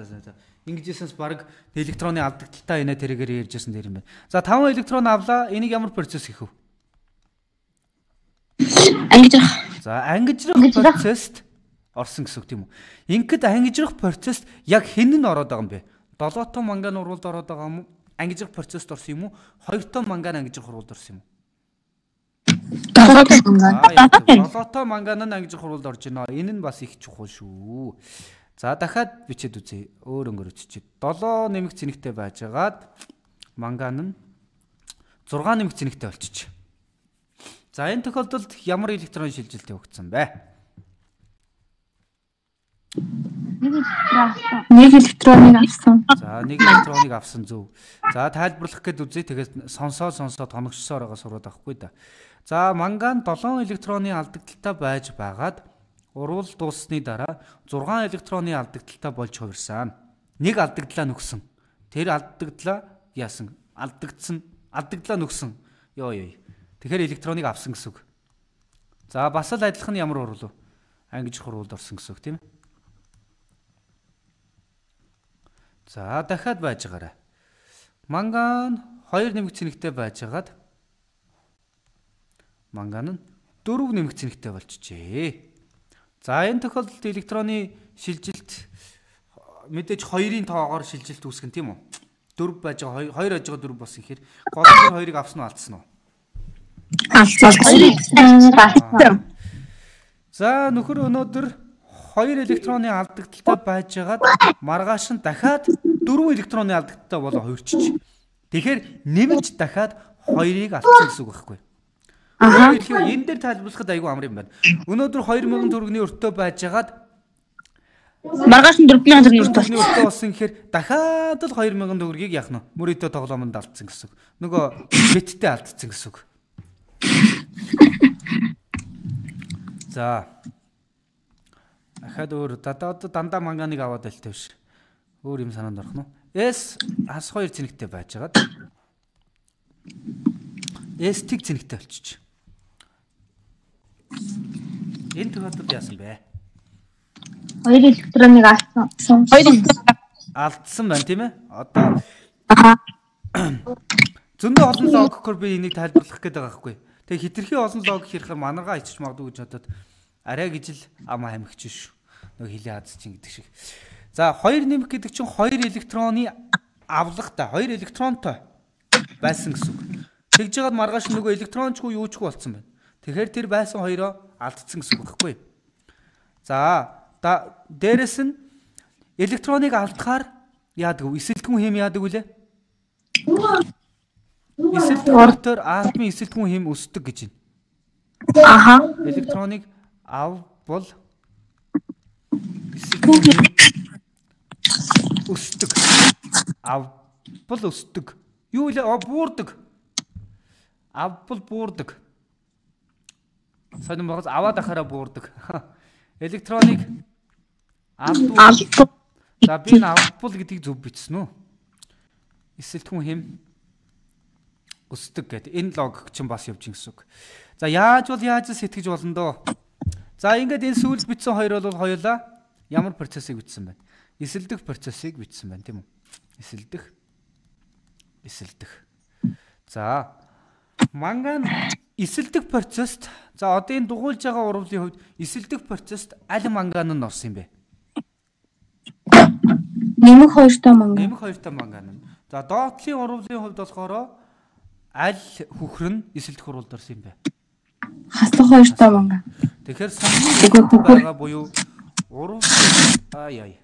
[SPEAKER 1] Ингэжсэнс баг электроны алдагдaltaа инээ тэрээр ярьжсэн дээр юм байна. За 5 электрон авлаа. Энийг ямар процесс хийх вэ?
[SPEAKER 2] Ангижрах.
[SPEAKER 1] За ангижрах процесст орсон гэсэн үг тийм үү? Ингээд ангижрах процесст яг хэн нь ороод байгаа юм бэ? 7 тонн манган урвалд ороод байгаа юм уу? Ангижрах процесст орсон юм уу? 2 тонн манган ангижрах урвалд орсон юм уу? 7 тонн манган ангижрах урвалд орж байна. Энэ нь бас их чухал шүү. За дахиад бичээд үзье. Өөр өнгөрөөччихэд 7 нэмэх цэнэгтэй байжгаад манган нь 6 нэмэх цэнэгтэй болчих. За энэ тохиолдолд ямар электрон шилжилт явагдсан бэ?
[SPEAKER 2] Нэг электроныг авсан.
[SPEAKER 1] За нэг электроныг авсан зөв. За тайлбарлах гээд үзье. Тэгээд сонсоод тоногчсоор байгаа сураад авахгүй да. За манган 7 электроны алдагдaltaа байж байгаад урвал дууссаны дараа 6 электроны алдагдaltaа болж хувирсан. Нэг алдагдлаа нөхсөн. Тэр алдагдлаа яасан? Алдагдлаа нөхсөн. Тэгэхээр электроныг авсан гэсэн үг. За бас л адилхан ямар урвал вэ? Ангижрах урвалд орсон гэсэн үг тийм ээ. За дахиад байж байгаарай. Манган 2 нэмэх цэнэгтэй байжгаад манган нь 4 нэмэх цэнэгтэй болчихжээ. За энэ тохиолдолд электроны шилжилт мэдээж 2-ын тоогоор шилжилт үүсгэн тийм үү? 4 байж байгаа 2 байж байгаа 4 болсон гэхээр гол нь 2-ыг авсан уу алдсан уу?
[SPEAKER 2] Алдсан.
[SPEAKER 1] За нөхөр өнөөдөр 2 электроны алдагдaltaа байжгаад маргааш нь дахиад 4 электроны алдагдaltaа болоо хувирчиж. Тэгэхээр нэмж дахиад 2-ыг авсан гэсэн үг байхгүй. Энэ дээр тайлбарлахад айгүй амар юм байна. Өнөөдөр 2000 төгрөгийн өртөө байжгаад
[SPEAKER 2] маргааш нь 4000 төгрөгийн
[SPEAKER 1] өртөө болсон гэхээр дахиад л 2000 төгрөгийг яах нь мөрөдөө тоглоомонд алдсан гэсэн үг. Нөгөө биттэй алдсан гэсэн үг. За. Ахад өөр дандаа манганыг аваад байлтай биш. Өөр юм санаанд орох нь. S ас 2 цэнэгтэй байжгаад S тэг цэнэгтэй болчих. Энэ тохиолдолд яасан бэ?
[SPEAKER 2] 2 электроныг алдсан. 2
[SPEAKER 1] алдсан байна тийм ээ? Одоо зөндөө олон логикоор би энийг тайлбарлах гээд байгаа байхгүй. Тэгээ хитрхи олон логик хэрхэн манаргаа ичиж магадгүй гэж бодоод арай гэж л ам хамигч шүү. Нөгөө хилээ хаз чинь гэдэг шиг. За 2 нэмэх гэдэг чинь 2 электроны авлагтай 2 электронтой байсан гэсэн үг. Тэгж жагаад маргааш нөгөө электрончгүй юучгүй болцсон байна. Тэгэхээр тэр байсан хоёроо алдсан гэсэн үг байхгүй. За дээрэс нь электроныг алдахаар яадаг вэ? Эсэлтгүүн хэм яадаг вүлээ? Эсэлтгүүнээр атомын эсэлтгүүн хэм өсдөг гэж байна. Электроныг авбал эсэлтгүүн хэм өсдөг. Авбал өсдөг. Юу вэ? Буурдаг. Авбал буурдаг. Сонин байгаас аваад ахаараа буурдаг. Электроныг авбал. За би энэ авбал гэдгийг зөв бичсэн үү? Эсэлтгүүн хэм өсдөг гэдэг. Энэ логик чинь бас явж гин гэсэн үг. За яаж сэтгэж болно доо? За ингээд энэ сүүлд бичсэн хоёр бол хоёулаа ямар процессыг бичсэн байна? Эсэлдэх процессыг бичсэн байна тийм үү? Эсэлдэх. За манган эсэлдэх процесст за одоо энэ дугуйлж байгаа урвалын хувьд эсэлдэх процесст аль манган нь орсон юм бэ?
[SPEAKER 2] Нэмэх 2 та манган. За доотлын урвалын хувьд болохоор аль хөхөр нь эсэлдэх урвалд орсон юм бэ? Хаслах 2 та манган.
[SPEAKER 1] Тэгэхээр санхүү байгаа буюу урвал Ай.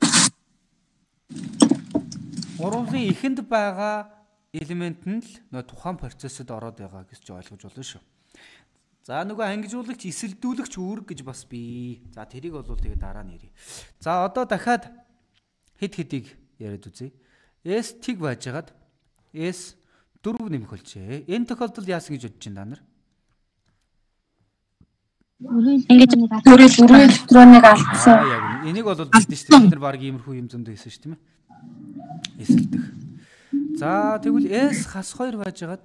[SPEAKER 1] Урвалын эхэнд байгаа элемент нь л тухайн процессод ороод байгаа гэж ойлгож болно шүү. За нөгөө ангижуулагч эсэлдүүлэгч үүрэг гэж бас бий. За тэрийг бол тэгээ дараа нь ярив. За одоо дахиад хэд хэдийг яриад үзье. S тэг байжгаад S 4 нэмэх болжээ. Энэ тохиолдолд яасан гэж бодож байна та нар?
[SPEAKER 2] Ингэж дөрөв электроныг алдсан.
[SPEAKER 1] Яг энийг бол бид шүү дээ. Бид нар баг иймэрхүү юм зөндөө хийсэн шүү тийм ээ. Эсэлдэх. За тэгвэл S хас 2 байжгаад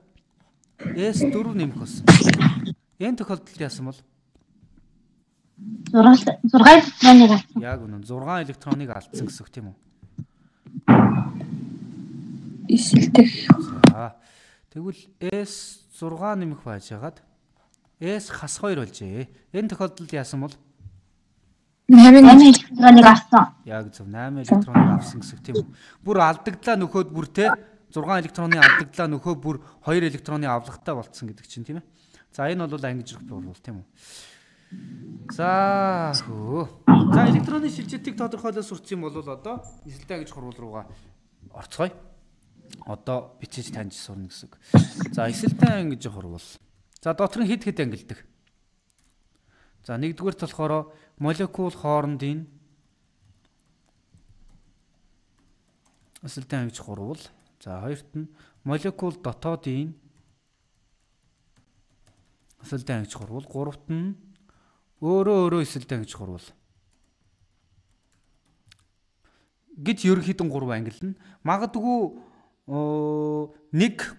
[SPEAKER 1] S 4 нэмэх болсон. Энэ тохиолдолд яасан бол
[SPEAKER 2] 6 электроныг алдсан.
[SPEAKER 1] Яг үнэн 6 электроныг алдсан гэсэн үг тийм үү?
[SPEAKER 2] Эсэлдэх.
[SPEAKER 1] За тэгвэл S 6 нэмэх байжгаад S хас 2 болжээ. Энэ тохиолдолд яасан бол
[SPEAKER 2] 8 электроныг авсан.
[SPEAKER 1] Яг зөв 8 электроныг авсан гэсэн үг тийм үү? Бүр алдагдлаа нөхөд бүр те 6 электроны алдагдлаа нөхөө бүр 2 электроны авлагатай болцсон гэдэг чинь тийм ээ. За энэ бол ангижрах бол тийм үү? За электроны шилжилтийг тодорхойлоод сурсан юм бол одоо эсэлтэй ангиж хурвал руугаа орцгоё. Одоо бичиж таньж сурна гэсэн үг. За эсэлтэй ангиж хурвал. За дотор нь хэд ангилдаг. За нэгдүгээрт болохоор молекул хоорондын эсэлтэй ангиж хурвал. За хоёрт нь молекул дотоодын эсэлтэй ангиж хурвал. Гуравт нь өөрөө эсэлтэй ангиж хурвал. Гэж ерөнхийдөө 3 ангилна. Магадгүй 1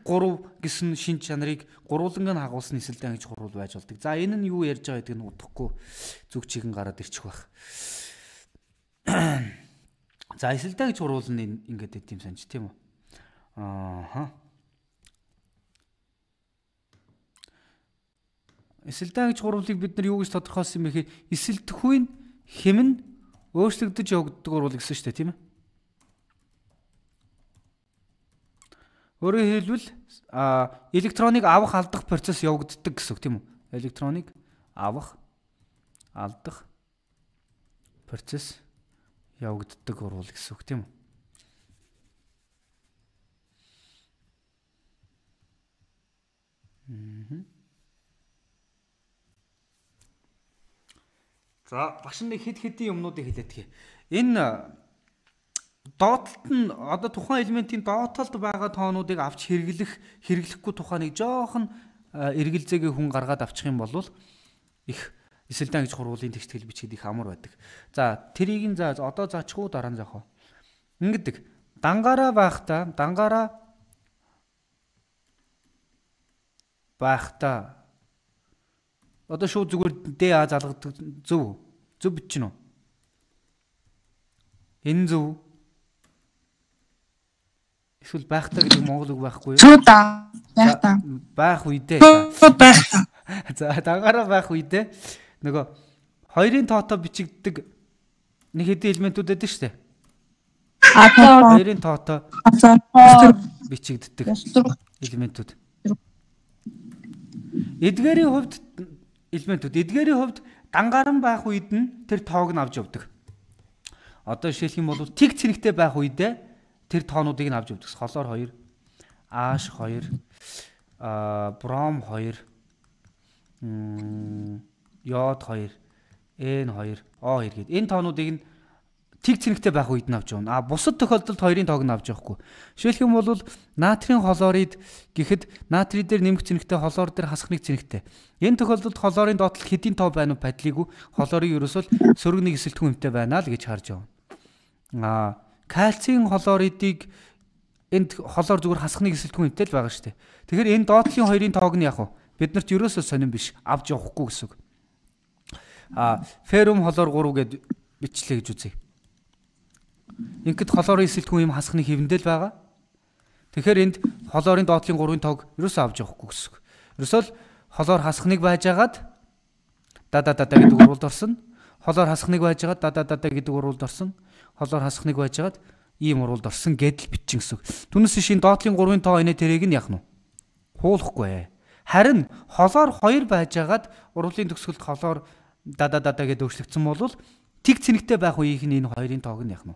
[SPEAKER 1] 3 гэсэн шин чанарыг гурвууланг нь хагуулсан эсэлтэй ангиж хурвал байж болдог. За энэ нь юу ярьж байгаа гэдгийг удахгүй зүг чигэн гараад ирчих байх. За эсэлтэй ангиж хурвал нь ингээд байт юм санаж тийм үү? Эсэлтэй ангиж хурвалыг бид нар юу гэж тодорхойлсон юм бэ гэхээр эсэлдэхгүй хэм нь өөрчлөгдөж явагддаг хурвал гэсэн шүү дээ тийм ээ? Өөрөөр хэлбэл электроныг авах алдах процесс явагддаг гэсэн үг тийм үү? Электроныг авах алдах процесс явагддаг хурвал гэсэн үг тийм үү? За багш нэг хэд хэдийн юмнуудыг хэлээд тгий. Энэ доотлолт нь одоо тухайн элементийн доотлолд байгаа тоонуудыг авч хэрэглэхгүй тухай нэг жоохон эргэлзээгээ хүн гаргаад авчих юм бол их эсэлтэй ангиж хурвалын тэгтгэл бичгээд их амар байдаг. За тэрийг нь одоо заачихгүй дараа нь заах. Ингэдэг. Дангаараа байхдаа одоо шууд зүгээр ДА залгадаг зөв бичнэ үү? Энэ зөв. Эсвэл байхдаа гэдэг монгол үг байхгүй юу?
[SPEAKER 2] Зөв да. Байхдаа.
[SPEAKER 1] Байх үедээ.
[SPEAKER 2] Байхдаа.
[SPEAKER 1] За дангаараа байх үедээ нөгөө хоёрын тоотой бичигддэг нэг хэдэн элементүүд байдаг шүү дээ. Хоёрын тоотой бичигддэг элементүүд. Эдгээрийн хувьд дангаран байх үед нь тэр тоог нь авч явдаг. Одоо жишээлх юм бол тэг цэнэгтэй байх үедээ тэр тоонуудыг нь авч явдаг. Холоор 2, H 2, бром 2, йод 2, N 2, O 2 гэдэг. Энэ тоонуудыг нь тэг цэнэгтэй байх үед нь авч явна. Бусад тохиолдолд хоёрын тоог нь авч явахгүй. Жишээлх юм бол натрийн хлорид гэхэд натрий дээр нэмэх цэнэгтэй, хлор дээр хасах нэг цэнэгтэй. Энэ тохиолдолд хлорын доотлол хэдийн тоо байна уу падлиггүй. Хлорыг ерөөсөө сөрөг нэг эсэлтгүй юмтай байна л гэж харж явна. Кальцийн хлоридыг энд хлор зүгээр хасах нэг эсэлтгүй юмтай л байгаа шүү дээ. Тэгэхээр энэ доотлын хоёрын тоог нь яг биднэрт ерөөсөө сонирн биш авч явахгүй гэсэн үг. Феррум хлор 3 гэд бичлээ гэж үзье. Ингээд хлорын эсэлтгүй юм хасах нэг хэвэндэл байгаа. Тэгэхээр энд хлорын доотлын 3-ын тоог ерөөсөө авч явахгүй гэсэн үг. Ерөөсөө л хлор хасах нэг байжгаад гэдэг урвалд орсон. Хлор хасах нэг байжгаад гэдэг урвалд орсон. Хлор хасах нэг байжгаад ийм урвалд орсон гэдэл бичин гэсэн үг. Түүнээс шин доотлын 3-ын тоо инээ тэрийг нь яах нь хуулахгүй. Харин хлор 2 байжгаад урвалын төгсгөлд хлор гэдэг өөрчлөгдсөн бол тэг цэнэгтэй байх үеийнх нь энэ хоёрын тоог нь яах нь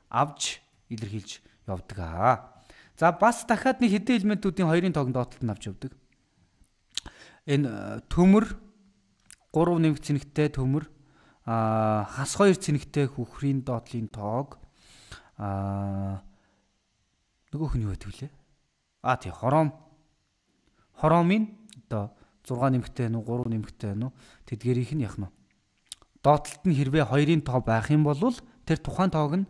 [SPEAKER 1] авч илэрхийлж явдаг аа. За бас дахиад нэг хэдэн элементүүдийн хоёрын тоог нь доотлолт нь авч явдаг. Энэ төмөр 3 нэмэх цэнэгтэй төмөр хас 2 цэнэгтэй хөхрийн доотлын тоог нөгөөх нь юу гэдэг вүлээ? Тий хороомын одоо 6 нэмэгтэй нь 3 нэмэгтэй нь тэдгэрийнх нь яах нь доотлолт нь хэрвээ хоёрын тоо байх юм бол тэр тухайн тоог нь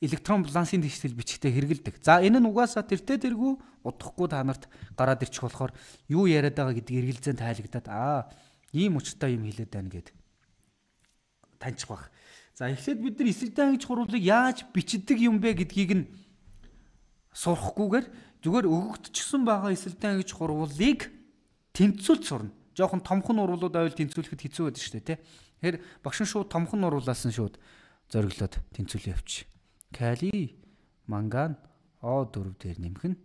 [SPEAKER 1] электрон балансын дэвшил бичгтээ хэрэгэлдэг. За энэ нь угаасаа тэртээ тэргүй удахгүй та нарт гараад ирчих болохоор юу яриад байгаа гэдгийг эргэлзэн тайлагдаад ийм учиртай юм хэлээд байна гэд таньчих баг. За эхлээд бид нар эсрэгтэй ангиж хурвлыг яаж бичдэг юм бэ гэдгийг нь сурахгүйгээр зүгээр өгөгдчихсөн байгаа эсрэгтэй ангиж хурвлыг тэнцвүүлж сурна. Жохон томхон урвлууд авал тэнцвүүлэхэд хэцүү байдаг шүү дээ, тий. Тэгэхээр багш нь шууд томхон урвлаас нь шууд зориглоод тэнцвүүлээ явчих. Кали, манган, O4 дээр нэмэх нь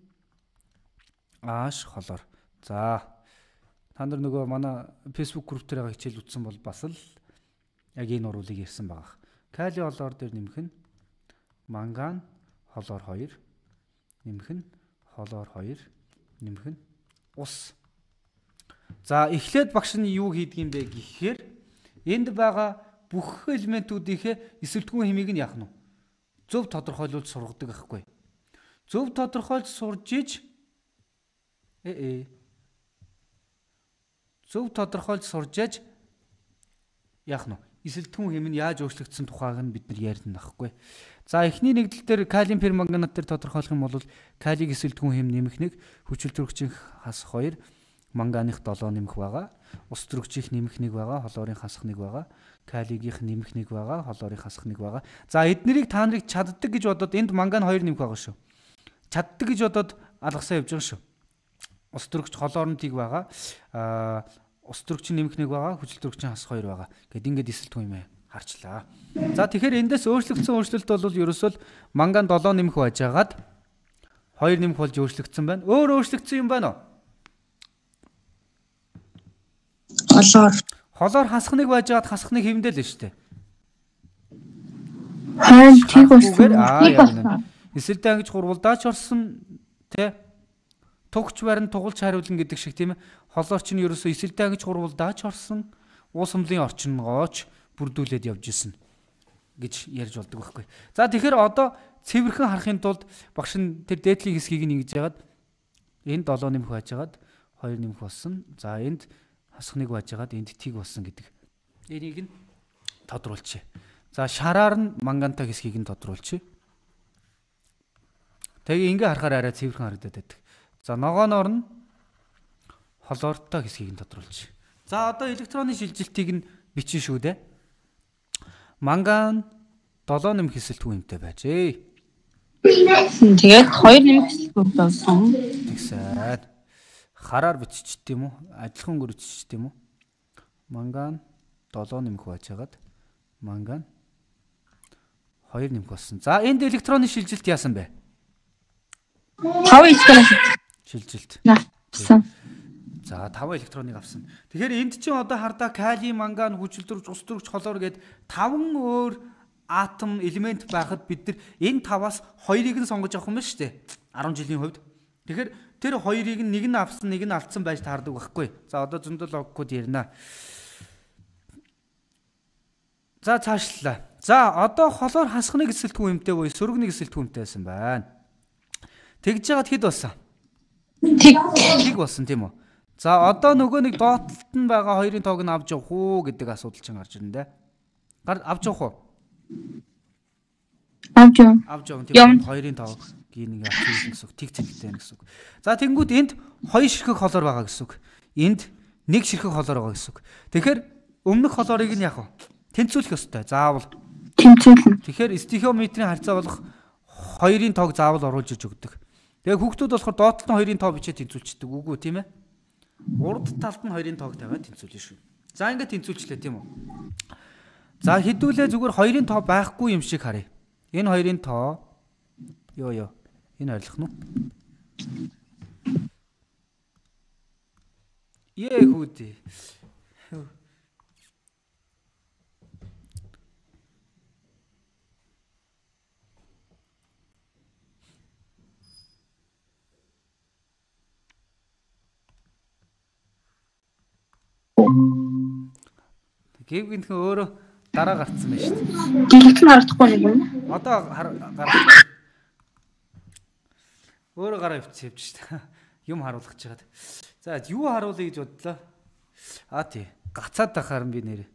[SPEAKER 1] ааш холоор. За та нар нөгөө манай Facebook group дээр байгаа хичээл үзсэн бол бас л яг энэ урвлыг ярьсан байгаа. Кали холоор дээр нэмэх нь манган холоор 2 нэмэх нь холоор 2 нэмэх нь ус. За эхлээд багш нь юу хийдэг юм бэ гэхээр энд байгаа бүх элементүүдийнхээ эсвэлтгүүн хэмийг нь яах нь зөв тодорхойлуулж сургадаг байхгүй. Зөв тодорхойлж сурж иж зөв тодорхойлж сурж иж яах нь эсвэлтгүүн хэм нь яаж өөрчлөгдсөн тухайг нь бид нар ярина байхгүй. За эхний нэгдэл дээр калиум перманганат дээр тодорхойлох юм бол калийг эсвэлтгүүн хэм нэмэх 1, хүчил төрөгчийн хас 2, манганых 7 нэмэх байгаа. Ус төрөгчийн нэмэх 1 байгаа, холоорын хасах 1 байгаа. Калигийнх нэмэх 1 байгаа, холоорын хасах 1 байгаа. За эднэрийг та нарыг чаддаг гэж бодоод энд манган 2 нэмэх байгаа шүү. Чаддаг гэж бодоод алгасаа явж байгаа шүү. Ус төрөгч холоорн тийг байгаа. Ус төрөгчийн нэмэх 1 байгаа, хүчил төрөгчийн хасах 2 байгаа. Гэт ингээд эсэлтгүй юм харчлаа. За тэгэхээр эндээс өөрчлөгдсөн өөрчлөлт бол ерөөсөө манган 7 нэмэх байжгаад 2 нэмэх болж өөрчлөгдсөн байна. Өөр өөрчлөгдсөн юм байна уу? Холоор хасах 1 байжгаад хасах 1 хэмдэл нь шүү дээ.
[SPEAKER 2] Хайн тийг болсон.
[SPEAKER 1] Эсэлдээ ангиж хурвалдаач орсон тий. Тугч барин тугалж хариулна гэдэг шиг тийм ээ. Холоор чинь ерөөсөө эсэлдээ ангиж хурвалдаач орсон. Уус хумлын орчингооч бүрдүүлээд явж исэн гэж ярьж болдог байхгүй. За тэгэхээр одоо цэвэрхэн харахын тулд багш нь тэр дээдлийн хэсгийг нь ингэж яагаад энд 7 нэмэх байжгаад 2 нэмэх болсон. За энд хасах 1 байжгаад энд тиг болсон гэдэг. Энийг нь тодруулчих. За шараар нь мангантай хэсгийг нь тодруулчих. Тэгээ ингээ харахаар арай цэвэрхэн харагдаад байдаг. За ногооноор нь холоортой хэсгийг нь тодруулчих. За одоо электроны шилжилтийг нь бичин шүү дээ. Манган 7 нэмэх эсэлтгүй юмтай байжээ.
[SPEAKER 2] Тэгээд 2 нэмэх эсэлтгүй болсон.
[SPEAKER 1] Тэгсээд хараар биччихт юм уу? Адилхан өнгөөр биччихт юм уу? Манган 7 нэмэх байжгаад манган 2 нэмэх болсон. За энд электроны шилжилт яасан бэ?
[SPEAKER 2] 5 электрон
[SPEAKER 1] шилжилт.
[SPEAKER 2] Авсан.
[SPEAKER 1] За 5 электроныг авсан. Тэгэхээр энд чинь одоо хардаа калий, манган, хүчилтөрөгч, ус төрөгч, холоор гээд 5 өөр атом элемент байхад бид нар энэ 5-аас 2-ыг нь сонгож авах юм байна шүү дээ. 10 жилийн хувьд. Тэгэхээр тэр 2-ыг нэг нь авсан, нэг нь алдсан байж таардаг байхгүй. За одоо зөндөл логикод ярина. За цаашлаа. За одоо холоор хасхны эсэлтгүй юмтай буюу сөрөгний эсэлтгүй юмтай байсан байна. Тэгж жагаад хэд болсон? Тэг болсон тийм үү? За одоо нөгөө нэг доотлолт нь байгаа 2-ын тоог нь авч явах уу гэдэг асуудал чинь гарч ирнэ. Авч явах уу?
[SPEAKER 2] Авч явна.
[SPEAKER 1] Авч явна тийм 2-ын тоог гийн ингээ авч ирэх гэсэн үг. Тэг цэнэгтэй гэсэн үг. За тэнгууд энд 2 ширхэг холоор байгаа гэсэн үг. Энд 1 ширхэг холоор байгаа гэсэн үг. Тэгэхээр өмнөх холоорыг нь яах вэ? Тэнцвүүлэх ёстой. Заавал
[SPEAKER 2] тэнцвүүлнэ.
[SPEAKER 1] Тэгэхээр стихиометрийн харьцаа болох 2-ын тоог заавал оруулж иж өгдөг. Тэгээ хүүхдүүд болохоор доотлолт нь 2-ын тоо бичээд тэнцвүүлчихдэг. Үгүй тийм ээ. Урд талд нь 2-ын тоог тавиад тэнцвүүлнэ шүү. За ингээд тэнцвүүлчлээ тийм үү? За хэдүүлээ зүгээр 2-ын тоо байхгүй юм шиг харъя. Энэ 2-ын тоо ёо. Энэ ойлгох нь уу? Хүүдээ. Гэв гинхэн өөрөө дараа гарцсан байна шүү дээ.
[SPEAKER 2] Гэлэгт нь харагдахгүй нэг юм.
[SPEAKER 1] Одоо өөрөө гараа өвчсөн явж шүү дээ. Юм харуулах гэж байгаа. За юу харуулъя гэж бодлоо. Тий. Гацаад тахаар би нэр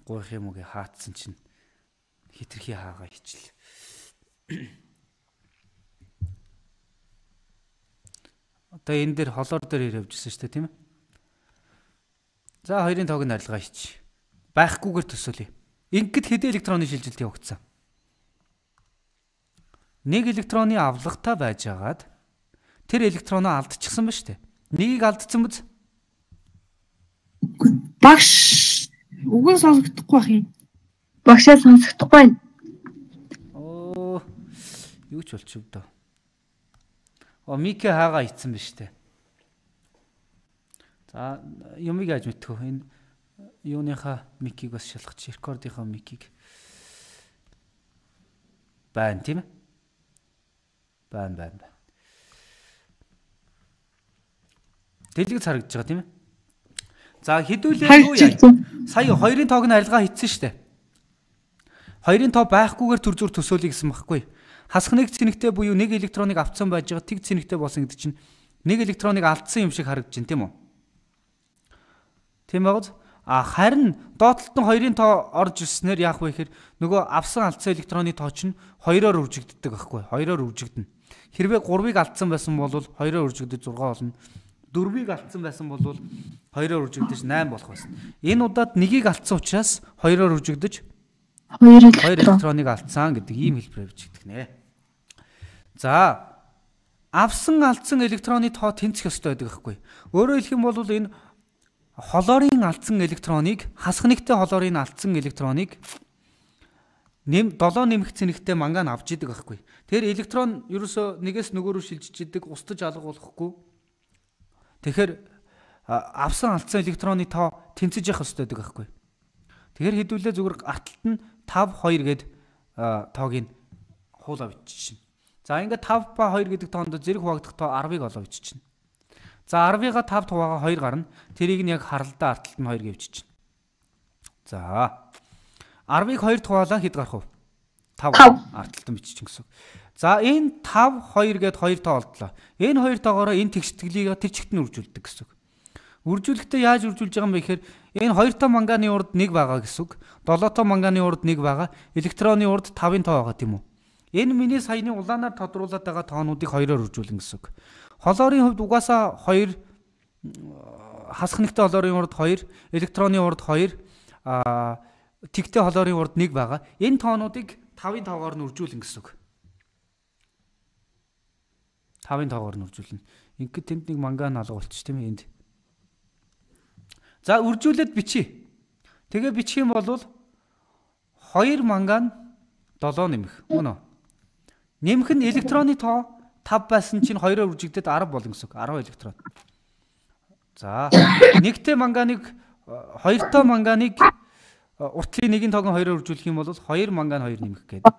[SPEAKER 1] гоох юм уу гэ хаацсан чинь хитрхи хаагаа хичл. Одоо энэ дээр холоор дээр явжсэн шүү дээ тийм ээ. За хоёрын тоог нь арилгаа хийч. Байхгүйгээр төсөөлье. Ингээд хэдэн электроны шилжилт явагдсан. Нэг электроны авлагатай байжгаад тэр электроноо алдчихсан ба штэ. Нэгийг алдсан биз?
[SPEAKER 2] Багш үгэн сонсогдохгүй бах юм. Багшаа сонсогдохгүй.
[SPEAKER 1] Юу ч болчих вэ? Микэ хаагаа ицсэн ба штэ. За юмыг яаж мэдтгөө? Энэ юуныхаа микийг бас шалгах, рекордынхаа микийг байна тийм ээ? Байна. Дэлгэц харагдаж байгаа тийм ээ? За хэдүүлээ юу яа? Сая хоёрын тоог нь арилгаа хийсэн шүү дээ. Хоёрын тоо байхгүйгээр төр зүр төсөөлье гэсэн багхгүй. Хасах нэг цэнэгтэй буюу нэг электроныг авцсан байж байгаа тэг цэнэгтэй болсон гэдэг чинь нэг электроныг алдсан юм шиг харагдаж байна тийм үү? Тийм байгааз? Харин доотлолт нь хоёрын тоо орж ирснээр яах вэ гэхээр нөгөө авсан алдсан электроны тоо чинь хоёроор үржигддэг байхгүй. Хоёроор үржигдэнэ. Хэрвээ 3-ыг алдсан байсан бол 2-оор үржигдэж 6 болно. 4-ыг алдсан байсан бол 2-оор үржигдэж 8 болох байсан. Энэ удаад 1-ийг алдсан учраас 2-оор үржигдэж 2 электроныг алдсан гэдэг ийм хэлбэрээр бичигдэх нэ. За авсан алдсан электроны тоо тэнцэх ёстой байдаг байхгүй. Өөрөөр хэлэх юм бол энэ холоорын алдсан электроныг хасах нэгтэй холоорын алдсан электроныг 7 нэмэх цэнэгтэй манган авч идэг байхгүй. Тэгэхээр электрон ерөөсөө нэгээс нөгөө рүү шилжиж идэг, устж алга болохгүй. Тэгэхээр авсан алдсан электроны тоо тэнцэж явах ёстой байдаг байхгүй. Тэгэхээр хэдүүлээ зүгээр арталт нь 5 2 гээд тоогийн хуулаа биччихнэ. За ингээд 5 ба 2 гэдэг тоонд зэрэг хуваагдах тоо 10-ыг олоо биччихнэ. За 10-ыга 5 хуваагаа 2 гарна. Тэрийг нь яг харалдаа арталт нь 2 гэж биччихнэ. За 10-ыг 2 хуваалаа хэд гарах вэ? 5 арталт нь биччихэн гэсэн. За энэ 5 2 гээд 2 тоо олдлоо. Энэ 2 тоогоороо энэ тэгшитгэлийг тэр чигт нь үржүүлдэг гэсэн. Үржүүлэхдээ яаж үржүүлж байгаа юм бэ гэхээр энэ 2 тоо манганы урд 1 байгаа гэсэн. 7 тоо манганы урд 1 байгаа. Электроны урд 5-ын тоо байгаа тийм үү? Энэ миний саяны улаанаар тодруулаад байгаа тоонуудыг 2-оор үржүүлнэ гэсэн. Холоорын хувьд угаасаа 2 хасах нэгтэй холоорын урд 2, электроны урд 2, тэгтэй холоорын урд 1 байгаа. Энэ тоонуудыг 5-ын тоогоор нь үржүүлнэ гэсэн. 5-ын тоогоор нь үржүүлнэ. Ингээд тэнд нэг манган алга болчих тийм ээ энд. За үржүүлээд бичье. Тэгээ бичих юм бол 2 манган 7 нэмэх. Мөн үү? Нэмэх нь электроны тоо 5 байсан чинь 2-оор үржигдээд 10 болно гэсэн үг. 10 электрон. За нэгтэй манганыг 2 тоо манганыг уртлын нэгin тоог нь 2-оор үржүүлэх юм бол 2 манган 2 нэмэх гэдэг.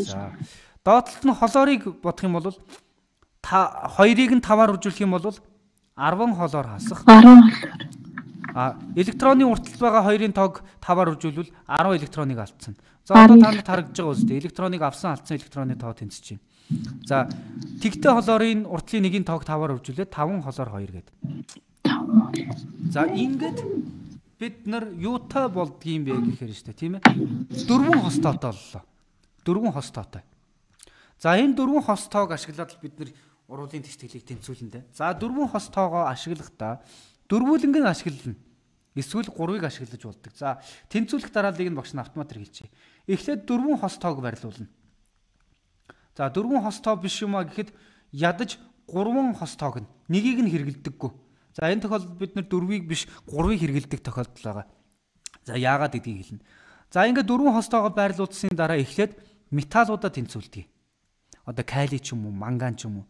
[SPEAKER 1] За доотлолт нь холоорыг бодох юм бол 2-ыг нь 5-аар үржүүлэх юм бол 10 холоор хасах.
[SPEAKER 2] 10
[SPEAKER 1] электроны урталт байгаа 2-ын тоог 5-аар үржүүлвэл 10 электроныг алдсан. За одоо та нарт харагдаж байгаа үстэй электроныг авсан алдсан электроны тоо тэнцэж байна. За тэгтэй холоорын уртлын нэгin тоог 5-аар үржүүлээд 5 холоор 2 гэдэг. За ингээд бид нар юутай болдгийм бэ гэхээр штэ тийм ээ. 4 хос тоотой боллоо. 4 хос тоотой. За энэ 4 хос тоог ашиглаад бид нар ургуулын тэгтгэлийг тэнцүүлнэ. За 4 хос тоогоо ашиглахдаа дөрвүүлэнг нь ашиглана. Эсвэл 3-ыг ашиглаж болдог. За тэнцүүлэх дарааллыг нь багш нь автомат хэрэгжээ. Эхлээд 4 хос тоог барилуулна. За 4 хос тоо биш юм а гэхэд ядаж 3 хос тоог нь нэгийг нь хэрэгэлдэггүй. За энэ тохиолдолд бид нар 4-ыг биш 3-ыг хэрэгэлдэг тохиолдол байгаа. За яагаад гэдгийг хэлнэ. За ингээд 4 хос тоогоо байрлуулсны дараа эхлээд металлуудаа тэнцүүлдэг. Одоо калий ч юм уу, манган ч юм уу.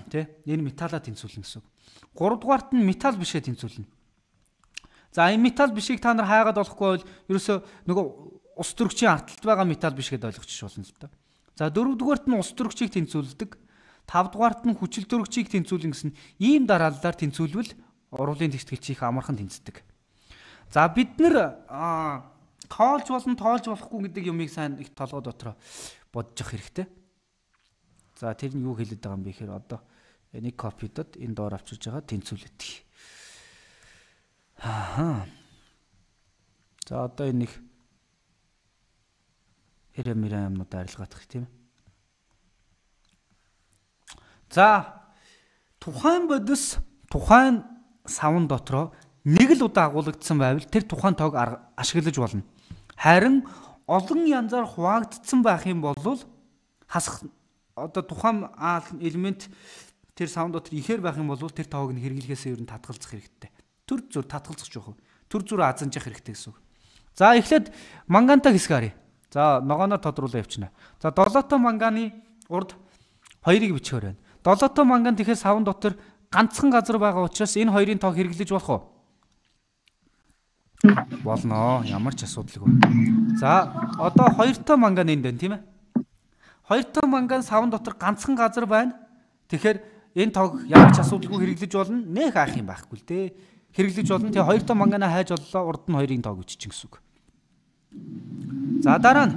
[SPEAKER 1] Тэ? Энэ металлаа тэнцүүлнэ гэсэн. 3 дугаарт нь металл бишээ тэнцүүлнэ. За энэ металл бишийг та нар хайгаад болохгүй бол ерөөсөө нөгөө ус төрөгчийн арталт байгаа металл биш гэдээ ойлгочих болно л доо. За 4 дугаарт нь ус төрөгчийг тэнцүүлдэг. 5 дугаарт нь хүчил төрөгчийг тэнцүүлнэ гэсэн ийм дарааллаар тэнцүүлвэл ургуулын тэгтгэлч их амархан тэнцдэг. За бид нэр тоолж болон тоолж болохгүй гэдэг юмыг сайн их толгой дотроо бодож явах хэрэгтэй. За тэр нь юу хэлээд байгаа юм бэ гэхээр одоо нэг копидод энэ доор авчирж байгаа тэнцвүүлээд. За одоо энэ нэг эрэмэрэн юмнууд арилгаадах тийм. За тухайн бодис тухайн савн дотроо нэг л удаа агуулгдсан байвал тэр тухайн тоог ашиглаж болно. Харин олон янзаар хуваагдсан байх юм бол хасах одоо тухайн элемент тэр савн дотор ихээр байх юм бол тэр тоог нь хэрэглэхээс ер нь татгалзах хэрэгтэй. Төр зүр татгалзах жоох. Төр зүр азанжих хэрэгтэй гэсэн үг. За эхлээд мангантай хэсэг харъя. За ногооноор тодруулаад явчихна. За 7 манганы урд 2-ыг бичихээр байна. 7 манган тэгэхээр савн дотор ганцхан газар байгаа учраас энэ хоёрын тоог хэрэглэж болох уу? Болно. Ямар ч асуудалгүй. За одоо 2 манган энд байна тийм ээ. 2 манган савн дотор ганцхан газар байна. Тэгэхээр энэ тоог ямар ч асуудалгүй хэрэглэж болно. Нэх аах юм байхгүй л дээ. Хэрэглэж болно. Тэгээ 2 манганаа хайж боллоо. Урд нь 2-ын тоог үчичин гэсэн үг. За дараа нь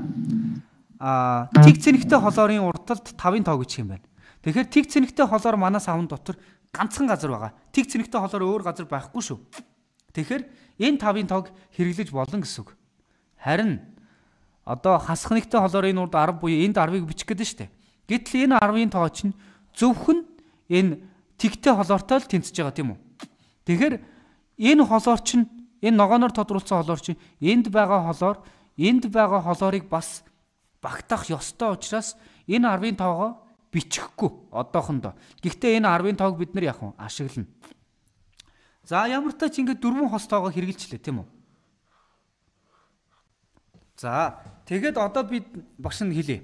[SPEAKER 1] тэг цэнэгтэй холоорын урталд 5-ын тоог үчих юм байна. Тэгэхээр тэг цэнэгтэй холоор манай савн дотор ганцхан газар байгаа. Тэг цэнэгтэй холоор өөр газар байхгүй шүү. Тэгэхээр энэ 5-ын тоог хэрэглэж болно гэсэн үг. Харин одоо хасах нэгтэй холоорын урд 10 буюу энд 10-ыг бичих гэдэг нь шүү дээ. Гэтэл энэ 10-ын тоо чинь зөвхөн энэ тэгтэй холоортой л тэнцэж байгаа тийм үү? Тэгэхээр энэ холоор чинь энэ ногооноор тодруулсан холоор чинь энд байгаа холоорыг бас багтаах ёстой учраас энэ 10-ын тоогоо бичихгүй одоохондоо. Гэхдээ энэ 10-ын тоог бид нар яах вэ? Ашиглана. За ямар ч тач ингээд 4 хос тоогоо хэрэгжилчлээ тийм үү? За тэгээд одоо бид багш нь хэлье.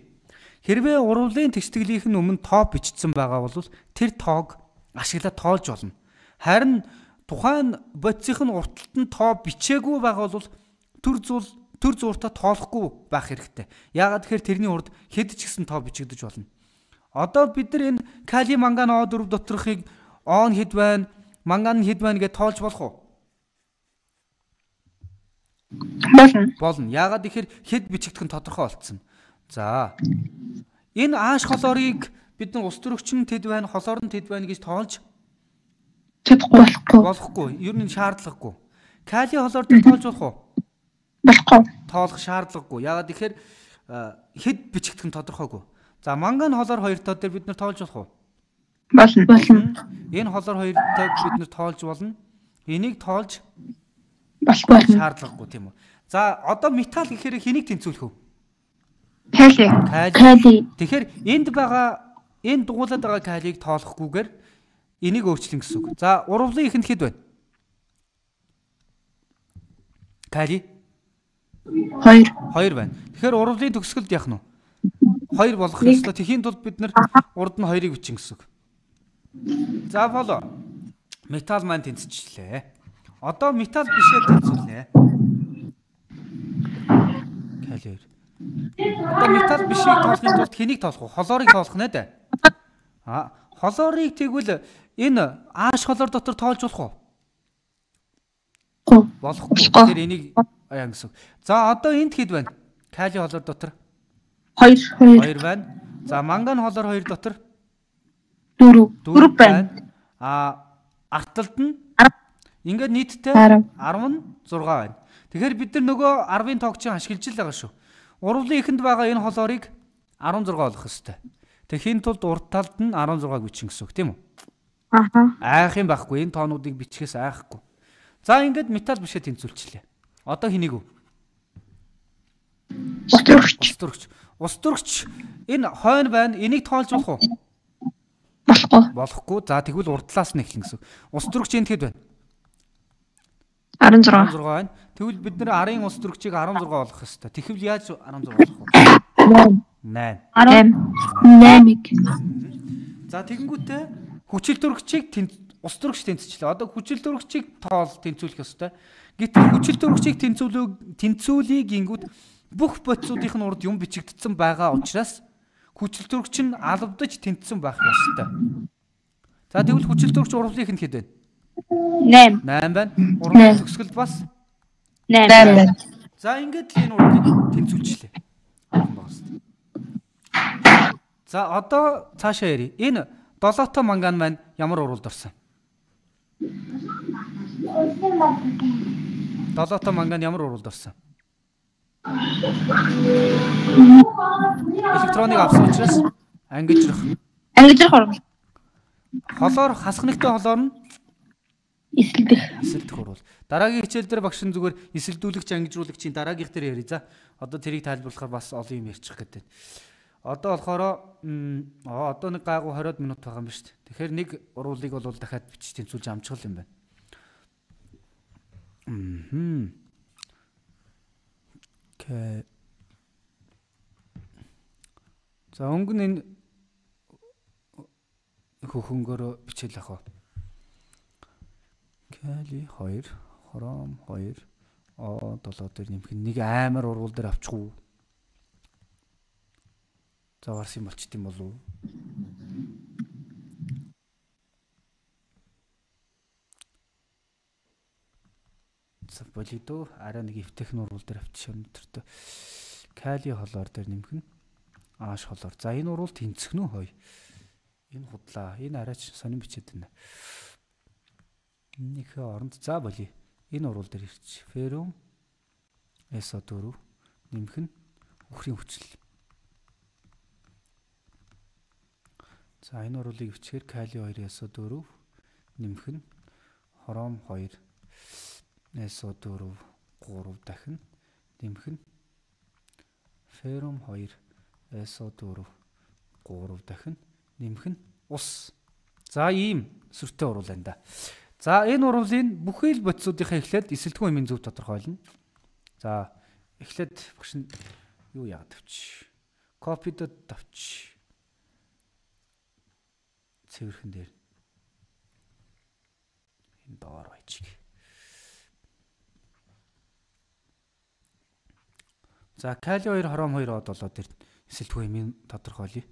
[SPEAKER 1] Хэрвээ урвалын тэгштгэлийнх нь өмнө тоо бичсэн байгаа бол тэр тоог ашиглаад тоолж болно. Харин тухайн бодисынх нь урталт нь тоо бичээгүй байгаа бол төр зууртаа тоолохгүй байх хэрэгтэй. Яагаад тэгэхээр тэрний урд хэд ч гэсэн тоо бичигдэж болно. Одоо бид нар энэ кали манган O4 доторхыг он хэд байна, манган хэд байна гэж тоолж болох уу? Болно. Яагаад тэгэхээр хэд бичигдэх нь тодорхой болцсон. За энэ ааш холоорыг бид нар ус төрөгч нь тэд байна, холоор нь тэд байна гэж тоолж болохгүй. Ер нь шаардлагагүй. Кали холоор дээр тоолж болох уу? Болохгүй. Тоолох шаардлагагүй. Яагаад тэгэхээр хэд бичигдэх нь тодорхойгүй. За манган холоор 2 тоо дээр бид нар тоолж болох уу? Болно. Энэ холоор 2 тоог бид нар тоолж болно. Энийг тоолж болохгүй. Шаардлагагүй тийм үү. За одоо металл гэхээр хэнийг тэнцвүүлэх вэ? Кали. Тэгэхээр энд дугуулад байгаа калийг тоолохгүйгээр энийг өөрчлөн гэсэн үг. За урвалын ихэнд хэд байна? Кали 2 байна. Тэгэхээр урвалын төгсгөлд яах нь вэ? 2 болох ёстой. Тэхийн тулд бид нар урд нь 2-ыг бичин гэсэн үг. За болоо. Металл маань тэнцчихлээ. Одоо металл бишээ тэнцүүлнэ. Кали 2. Одоо металл бишийг тоолохын тулд хэнийг тоолох вэ? Холоорыг тоолох нэ дээ. Холоорыг тэгвэл энэ ааш холоор дотор тоолж болох уу? Болохгүй. Тэгэхээр энийг аяа гэсэн. За одоо энд хэд байна? Кали холоор дотор 2 байна. За манган холоор 2 дотор 4 байна. Арталд нь ингээд нийтдээ 16 байна. Тэгэхээр бид нар нөгөө 10-ын тоог чинь ашиглаж л байгаа шүү. Урвалын ихэнд байгаа энэ холоорыг 16 болох ёстой. Тэхийн тулд урд талд нь 16-г бичин гэсэн үг тийм үү? Айх юм байхгүй. Энэ тоонуудыг бичгээс айхгүй. За ингээд металл бишээ тэнцүүлчихлээ. Одоо хэнийг вэ? Ус төрөгч. Энэ хойно байна. Энийг тоолж болох уу? Болохгүй. За тэгвэл урд талаас нь эхлэн гэсэн. Ус төрөгч энд хэд байна? 16 байна. Тэгвэл бид нэр арын ус төрөгчийг 16 болгох ёстой. Тэгэхвэл яаж 16 болох вэ? 8-ыг. За тэгэнгүүтээ хүчил төрөгчийг ус төрөгч тэнцвчлээ. Одоо хүчил төрөгчийг тэнцвүүлэх ёстой. Гэтэл хүчил төрөгчийг тэнцвүүлийг гингүүд бүх бодисуудын нь урд юм бичигдсэн байгаа учраас хүчил төрөгч нь албадж тэнцсэн байх ёстой. За тэгвэл хүчил төрөгч урвалын ихэнд хэд байна? 8 байна. Урвалын төгсгөлд бас
[SPEAKER 3] 8.
[SPEAKER 1] За ингээд л энэ урдлыг тэнцвүүлчихлээ. За одоо цаашаа ярий. Энэ 7 манган маань ямар уралд орсон? 7 манган ямар уралд орсон? Электроник авсан учраас ангижрах
[SPEAKER 3] урал.
[SPEAKER 1] Холоор хасах нэгтэй холоор нь
[SPEAKER 3] Эсэлдэх
[SPEAKER 1] урал. Дараагийн хичээл дээр багш нь зүгээр эсэлдүүлэгч ангижруулагчийн дараагийнх дээр ярий. За одоо тэрийг тайлбарлахаар бас олон юм ярьчих гэдэг. Одоо болохоор одоо нэг гайгүй 20 минут байгаа юм ба шүү дээ. Тэгэхээр нэг урвалыг бол дахиад бичиж тэнцүүлж амжих юм байна. Окей. За өнгө нь энэ хөхөнгөөр бичээл ах. Кали 2, хором 2, 7 дээр нэмэх нэг амар урвал дээр авчих уу? За варс юм болчт юм болов уу? За болидо арай нэг эвтэхн урвал дээр авчих өнөдөртөө. Кали холоор дээр нэмэх нь ааш холоор. За энэ урвал тэнцэх нү хой. Энэ худлаа. Энэ арайч сонин бичээд байна. Энийхээ оронд за болий. Энэ урвал дээр ирч. Ферум SO4 нэмэх нь үхрийн хүчил. За энэ урвалыг бичгээр кали 2 SO4 нэмэх нь хором 2 SO4 3 дахин нэмэх нь ферум 2 SO4 3 дахин нэмэх нь ус. За ийм сүртэй урвал байна да. За энэ урвалын бүхий л бодисуудынхаа эхлээд эсэлтгүүн юмын зөв тодорхойлно. За эхлээд багш нь юу яагаад тавьчих. Копидод тавьчих. Цэвэрхэн дээр. Энэ доор байчих. За кали 2 хором 2 од болоод дээр эсэлтгүүн юмын тодорхойлъё.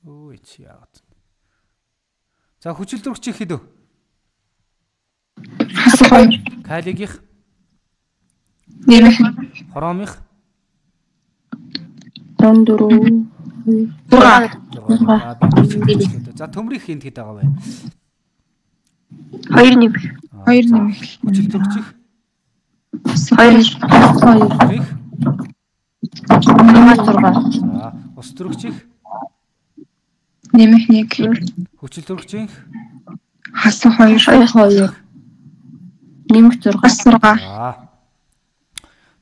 [SPEAKER 1] Ой чи яагаад. За хүчил дөрөгч хэд вэ? Калигийнх.
[SPEAKER 3] Нэмэх.
[SPEAKER 1] Хоромынх.
[SPEAKER 3] 4.
[SPEAKER 1] За төмрийнх хинт хэд байгаа вэ?
[SPEAKER 3] 2 нэмэх. 2 нэмэх.
[SPEAKER 1] Хүчил дөрөгч
[SPEAKER 3] 2.
[SPEAKER 1] За ус дөрөгч
[SPEAKER 3] нэмэх 1.
[SPEAKER 1] Хүчил дөрөгчийн
[SPEAKER 3] хасах 2. Нэмэх 6.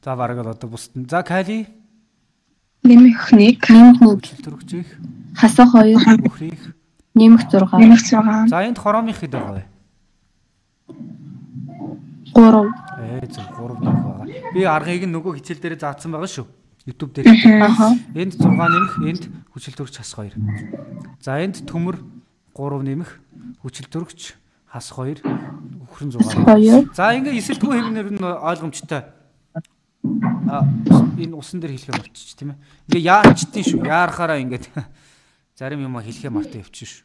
[SPEAKER 1] За бараг л одоо бусд. За кали
[SPEAKER 3] нэмэх 1.
[SPEAKER 1] Хүчил дөрөгчийн
[SPEAKER 3] хасах 2.
[SPEAKER 1] бүхрийг
[SPEAKER 3] нэмэх 6.
[SPEAKER 1] За энд хоромынх хэд байгаа вэ?
[SPEAKER 3] 3.
[SPEAKER 1] Зөв 3 нэмэх байгаа. Би аргыг нь нөгөө хичээл дээр заасан байгаа шүү. YouTube дээр. Энд 6 нэмэх, энд хүчил дөрөгч хас 2. За энд төмөр 3 нэмэх, хүчил дөрөгч хас 2, үхрэн 6. За ингээ эсэлтгүү хэвнэр нь ойлгомжтой. Энэ усан дээр хэлхээ мартчих тийм ээ. Ингээ яачдیں шүү. Яарахаараа ингээд зарим юм хэлхээ мартаа явчих шүү.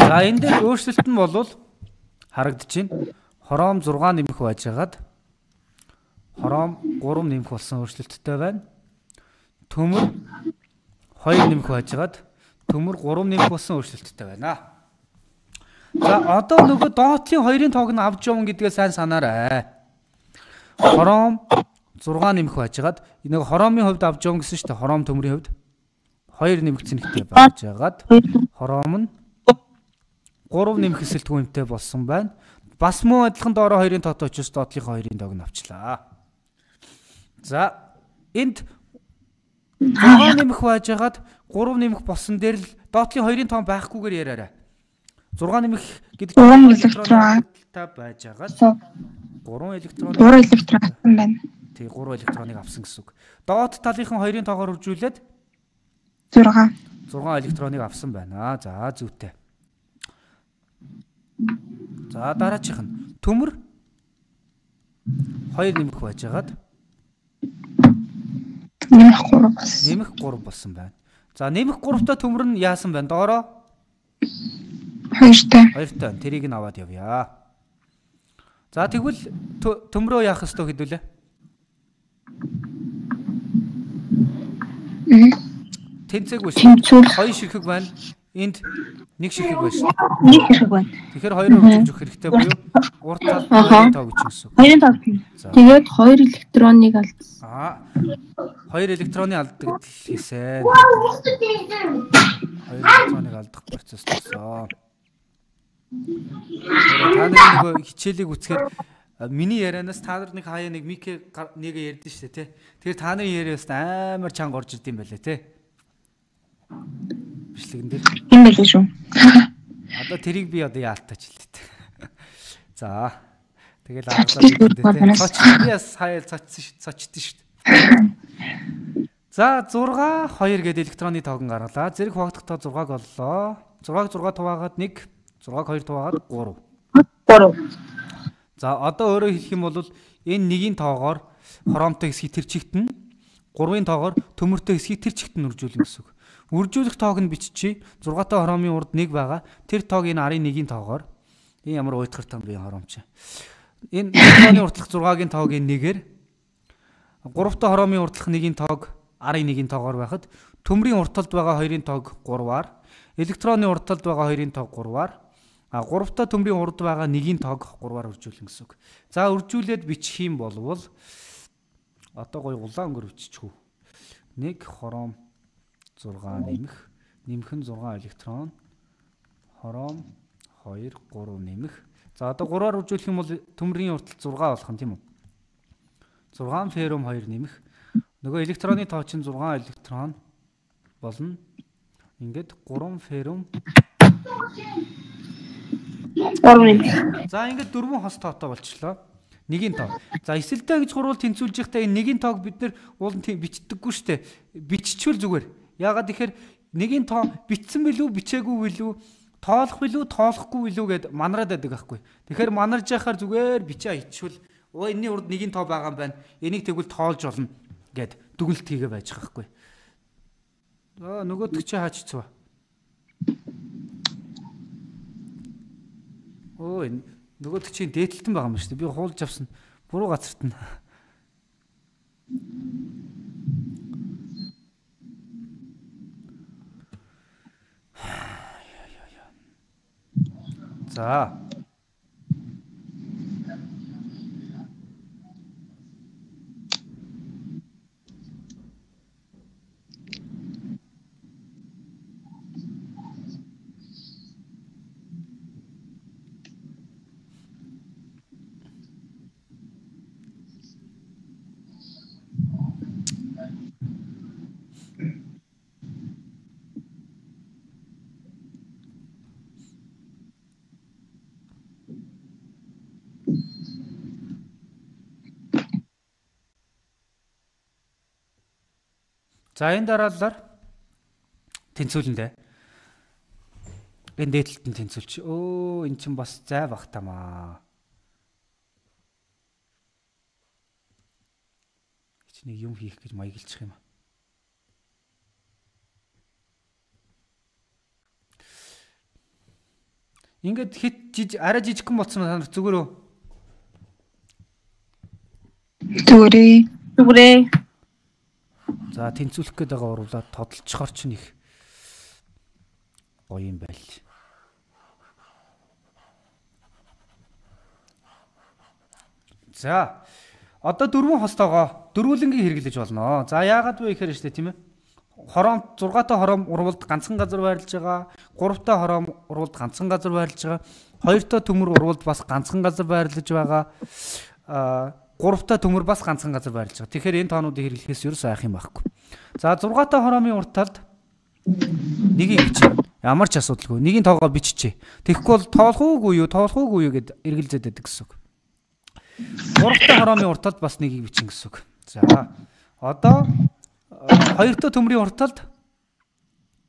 [SPEAKER 1] За энэ дээр өөрчлөлт нь болвол харагдчихээн. Хором 6 нэмэх байжгаад хором 3 нэмэх болсон өөрчлөлттэй байна. Төмөр 2 нэмэх байжгаад төмөр 3 нэмэх болсон өөрчлөлттэй байна. За одоо нөгөө доотлын 2-ын тоог нь авч явна гэдгээ сайн санаарай. Хором 6 нэмэх байжгаад нэг хоромын хувьд авч явна гэсэн шүү дээ. Хором төмрийн хувьд 2 нэмэгдсэн нэгтэй байжгаад хором нь 3 нэмэх эсэлтгүүнтэй болсон байна. Бас муу адилхан доороо 2-ын тоотой учраас доотлынхаа 2-ын тоог нь авчлаа. За энд 6 нэмэх байжгаад 3 нэмэх болсон дээр л доотлын 2-ын тоон байхгүйгээр яриараа. 6 нэмэх гэдэг
[SPEAKER 3] 3 электрон
[SPEAKER 1] байжгаад
[SPEAKER 3] 3 электрон авсан байна.
[SPEAKER 1] Тий 3 электроныг авсан гэсэн үг. Доот талынхан 2-ын тоогоор үржүүлээд
[SPEAKER 3] 6
[SPEAKER 1] электроныг авсан байна. За зүйтэй. За дараачих нь төмөр 2 нэмэх байжгаад
[SPEAKER 3] нэмэх 3 болсон.
[SPEAKER 1] Нэмэх 3 болсон байна. За нэмэх 3-тай төмөр нь яасан байна? Доороо
[SPEAKER 3] 2-тай.
[SPEAKER 1] 2-тай. Тэрийг нь аваад явъя. За тэгвэл төмрөө яах ёстой хэдүүлээ? Тэнцээгүй шүү. 2 ширхэг байна. Энд 1 ширхэг байна шүү.
[SPEAKER 2] 1 ширхэг байна.
[SPEAKER 1] Тэгэхээр 2-оор хэмжих хэрэгтэй буюу урд талд 2-ын тоог бичих гэсэн.
[SPEAKER 2] 2-ын тоог.
[SPEAKER 3] Тэгээд 2 электроныг алдсан.
[SPEAKER 1] 2 электроны алддаг хэлсэн. 2 электроныг алдах процесс болсон. Та нар нөгөө хичээлийг үцхээр миний ярианаас та нар нэг хаяа нэг мик нэг ярьдэн шүү дээ тий. Тэгэхээр та нарын яриас амар чанга орж ирд юм байлаа тий. Бичлэгэн дээр.
[SPEAKER 3] Юм байлээ шүү.
[SPEAKER 1] Одоо тэрийг би одоо яалтаач хэлдэг. За. Тэгэл аргалаа цоч би бас хаяа цочдсон шүү дээ. За 6 2 гэдэг электронны тоогон гаргалаа. Зэрэг хуваагдах тоо 6-г боллоо. 6-г 6 хуваагаад 1 6-г 2 хуваагаад 3. За одоо өөрөөр хэлэх юм бол энэ нэгийн тоогоор хромтой хэсгийг тэр чигт нь 3-ын тоогоор төмөртэй хэсгийг тэр чигт нь үржүүлнэ гэсэн үг. Үржүүлэх тоог нь биччихье. 6-тай хромын урд 1 байгаа. Тэр тоог энэ арын 1-ийн тоогоор энэ ямар уйтгартай би хромч. Энэ электроны уртлах 6-гийн тоог энэ нэгээр 3-тай хромын уртлах 1-ийн тоог арын 1-ийн тоогоор байхад төмрийн уртталд байгаа 2-ын тоог 3-аар электроны уртталд байгаа 2-ын тоог 3-аар 3-та төмрийн урд байгаа 1-ийн тоог 3-аар үржүүлнэ гэсэн үг. За үржүүлээд бичих юм болвол одоо гоё улаан өнгөөр биччихв. 1 хором 6 нэмэх нь 6 электрон хором 2 3 нэмэх. За одоо 3-аар үржүүлэх юм бол төмрийн уртал 6 болох нь тийм үү? 6 феррум 2 нэмэх. Нөгөө электроны тоо чинь 6 электрон болно. Ингээд 3 феррум
[SPEAKER 3] 3 нэмэх.
[SPEAKER 1] За ингээд 4 хос тоотой болчихлоо. 1-ийн тоо. За эсэлтэй гэж хурвал тэнцвүүлж байхдаа энэ 1-ийн тоог бид нар уулын бичдэггүй шүү дээ. Биччихвэл зүгээр. Яагаад тэгэхээр 1-ийн тоо бичсэн билүү, бичээгүй билүү, тоолох билүү, тоолохгүй билүү гэд манараад байдаг байхгүй. Тэгэхээр манарж яхаар зүгээр бичээ ичвэл энэний урд 1-ийн тоо байгаа юм байна. Энийг тэгвэл тоолж болно гэд дүгнэлт хийгээ байж байгаа байхгүй. Нөгөөдөг чи хаачцгаа. Энэ нөгөөдөг чи дээдлэлтэн байгаа юм шүү дээ. Би хуулж авсан. Буруу газарт нь. За. За энэ дараалалаар тэнцүүлэндээ. Энэ дээдлэлтэн тэнцүүлч. Эн чинь бас зай бах тамаа. Чи нэг юм хийх гэж маяглчих юм аа. Ингээд хит арай жижигхэн болсон санаар зүгээр үү?
[SPEAKER 3] Зүгээрээ.
[SPEAKER 1] За тэнцүүлэх гээд байгаа уруулаад тодолцохоор ч нэг гоё юм байл. За одоо 4 хостойгоо дөрвөлөнгийн хэрэглэж болно. За яагаад вэ гэхээр штэ тийм ээ. Хором 6-тай хором урвалд ганцхан газар байрлаж байгаа. 3-тай хором урвалд ганцхан газар байрлаж байгаа. 2-тай төмөр урвалд бас ганцхан газар байрлаж байгаа. 3-тай төмөр бас ганцхан газар байрлаж байгаа. Тэгэхээр энэ тоонуудыг хэрэглэхээс юу сайх юм байхгүй. За 6-тай хоромын урт талд нэгийг бичээ. Ямар ч асуудалгүй. Нэгийн тоогоо биччихье. Тэгэхгүй бол тоолох уугүй юу гэд эргэлзээд байдаг гэсэн үг. 3-тай хоромын урт талд бас нэгийг бичин гэсэн үг. За одоо 2-тай төмрийн урт талд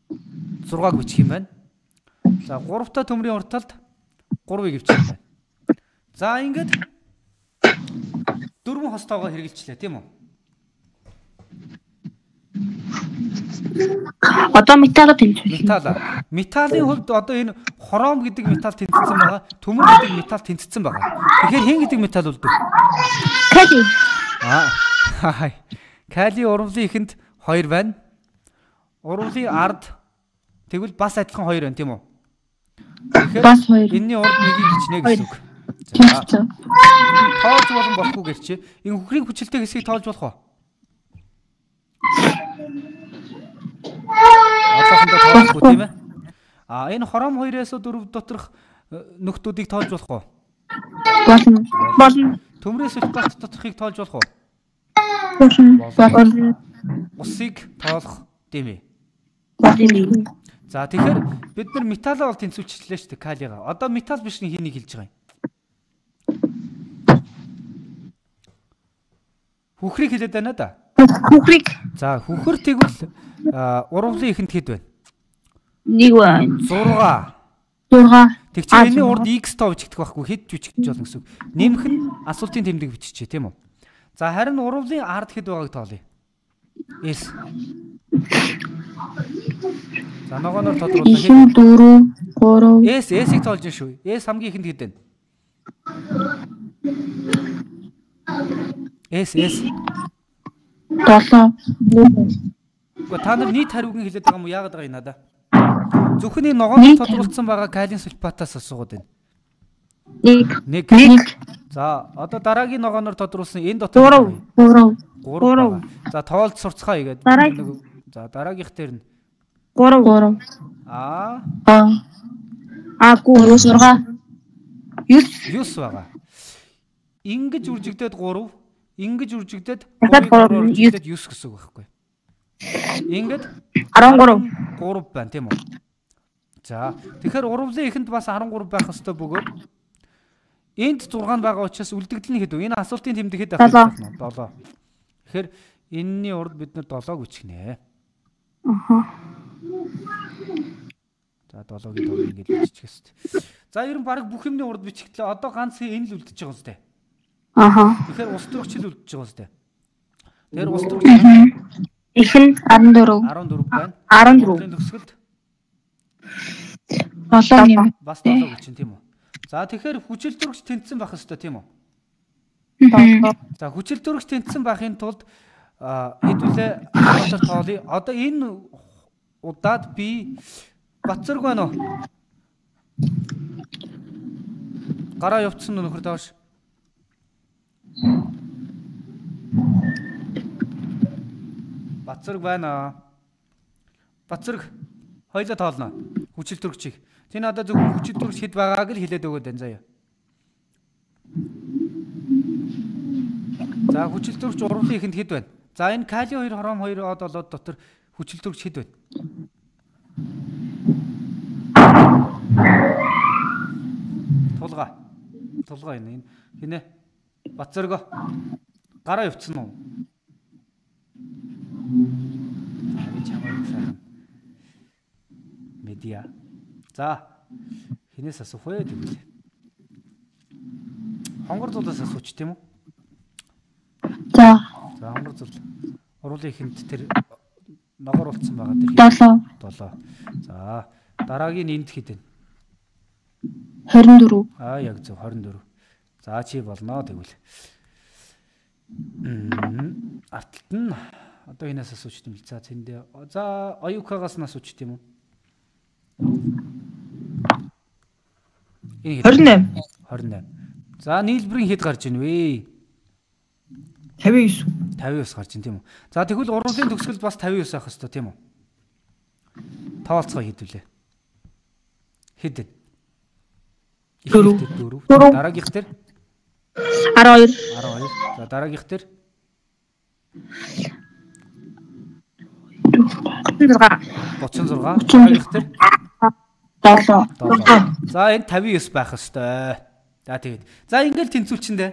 [SPEAKER 1] 6-г бичих юм байна. За 3-тай төмрийн урт талд 3-ыг бичих юм байна. За ингээд 4 хостойгоо хэрэгжилчлээ тийм үү?
[SPEAKER 3] Одоо металл тэнцвэрлсэн.
[SPEAKER 1] Металлын хувьд одоо энэ хром гэдэг металл тэнцсэн байгаа. Төмөр гэдэг металл тэнцсэн байгаа. Тэгэхээр хэн гэдэг металл үлдв?
[SPEAKER 3] Кали.
[SPEAKER 1] Кали урвалын ихэнд 2 байна. Урвалын ард тэгвэл бас адилхан 2 байна тийм үү?
[SPEAKER 3] Бас 2.
[SPEAKER 1] Энийний урд нэгийг хичнээ гэсэн үг.
[SPEAKER 3] За.
[SPEAKER 1] Тоолж болохгүй гэрчээ. Энэ хөхрийн хүчилтэй хэсгийг тоолж болох уу? Одоохондоо тоолохгүй тийм ээ. Энэ хором 2-оос 4 доторх нөхдүүдийг тоолж болох уу?
[SPEAKER 3] Болно.
[SPEAKER 1] Төмрөөс сульфат доторхыг тоолж болох уу?
[SPEAKER 3] Болно.
[SPEAKER 1] Усыг тоолох тийм ээ.
[SPEAKER 3] Болно.
[SPEAKER 1] За тэгэхээр бид нар металлаа бол тэнцвүүлчихлээ шүү дээ калигаа. Одоо металл биш нэг хэнийг хэлж байгаа юм. Хөхрийг хэлээд байна да.
[SPEAKER 3] Хөхрийг.
[SPEAKER 1] За хөхөр тэгвэл урвалын ихэнд хэд байна?
[SPEAKER 3] 1 байна.
[SPEAKER 1] 6. Тэгчээ энэ урд x тоо бичигдэх байхгүй хэд бичигдэж болно гэсэн үг. Нэмэх нь асуултын тэмдэг биччихэ тийм үү? За харин урвалын ард хэд байгааг тоолъё. S. За ногооноор тодруулах
[SPEAKER 3] хэд? 4 3.
[SPEAKER 1] S-ийг тоолж шүү. S хамгийн ихэнд хэд байна? S
[SPEAKER 3] 7.
[SPEAKER 1] Гэхдээ та нар нийт хариуг нь хэлээд байгаа юм уу? Яагаад байгаа юм надаа? Зөвхөн энэ ногооноор тодруулсан байгаа калиум сульфатаас асуугаад байна. 1. За одоо дараагийн ногооноор тодруулсан энэ дотор 3. За тоолж сурцгаа игээд. За дараагийнх дээр нь
[SPEAKER 3] 3. 9
[SPEAKER 1] байгаа. Ингэж үржигдээд 3, ингэж үржигдээд
[SPEAKER 3] 9
[SPEAKER 1] 9 гэсэн үг байхгүй. Ингээд
[SPEAKER 3] 13
[SPEAKER 1] байна тийм үү? За тэгэхээр урвалын ихэнд бас 13 байх ёстой бөгөөд энд 6 байгаа учраас үлдэгдэл нь хэд вэ? Энэ асуултын тэмдэг хэд байх вэ? 7. Тэгэхээр энэний урд бид нар 7-г үчгнэ. За 7-гийн тоо ингэж бичих ёстой. За ер нь баг бүх юмны урд бичигдлээ. Одоо ганц энэ л үлдчихэж байгаа юм зү. Тэгэхээр улс төрөгч л үлдчихэж байгаа юм зү. Тэгэхээр улс төрөгч
[SPEAKER 3] их нь 14
[SPEAKER 1] байна.
[SPEAKER 3] 14
[SPEAKER 1] төгсгөлд
[SPEAKER 3] 7 юм.
[SPEAKER 1] Бас 7 гэж тийм үү? За тэгэхээр хүчил төрөгч тэнцсэн байх ёстой тийм үү? За хүчил төрөгч тэнцсэн байхын тулд хэдүүлээ хамтар тоолъё. Одоо энэ удаад би Батцэрг байна уу? Гараа явцсан нөхөр тааш. Батцэрг байна. Батцэрг хоёлоо тоолно. Хүчил төрөгчийг. Тэ надад зөвхөн хүчил төрөгч хэд байгааг л хэлээд өгөөд байна заяа. За хүчил төрөгч урвалын ихэнд хэд байна? За энэ калиум 2 хром 2 од болоод дотор хүчил төрөгч хэд байна? Тулгаа энэ хинэ? Батцэрг гараа явцсан уу? Би чамайг сайхан медиа. За хинээс асуух вэ гэвэл хонгор зулаас асууч тийм үү?
[SPEAKER 3] За
[SPEAKER 1] хонгор зул урвалын ихэнд тэр ногоор болцсон байгаа тэр 7. За дараагийн энд хэд вэ?
[SPEAKER 3] 24.
[SPEAKER 1] Яг зөв 24. За чи болно тэгвэл. Арталт нь одоо энэс асууч тийм л. За зэндээ. За оюукагаас нь асууч тийм үү? 28. За нийлбэрийн хэд гарч ийн вэ?
[SPEAKER 2] 59
[SPEAKER 1] гарч ийн тийм үү? За тэгвэл урвалын төгсгөл бас 59 авах хэрэгтэй тийм үү? Тоолцоо хийдвүлээ. Хэд вэ? 4. Дараагийнх дээр
[SPEAKER 3] 12.
[SPEAKER 1] За дараагийнх дээр 36. Дараагийнх дээр 7. За энэ 59 байх ёстой. За тэгээд. За ингээл тэнцүүлчихэндээ.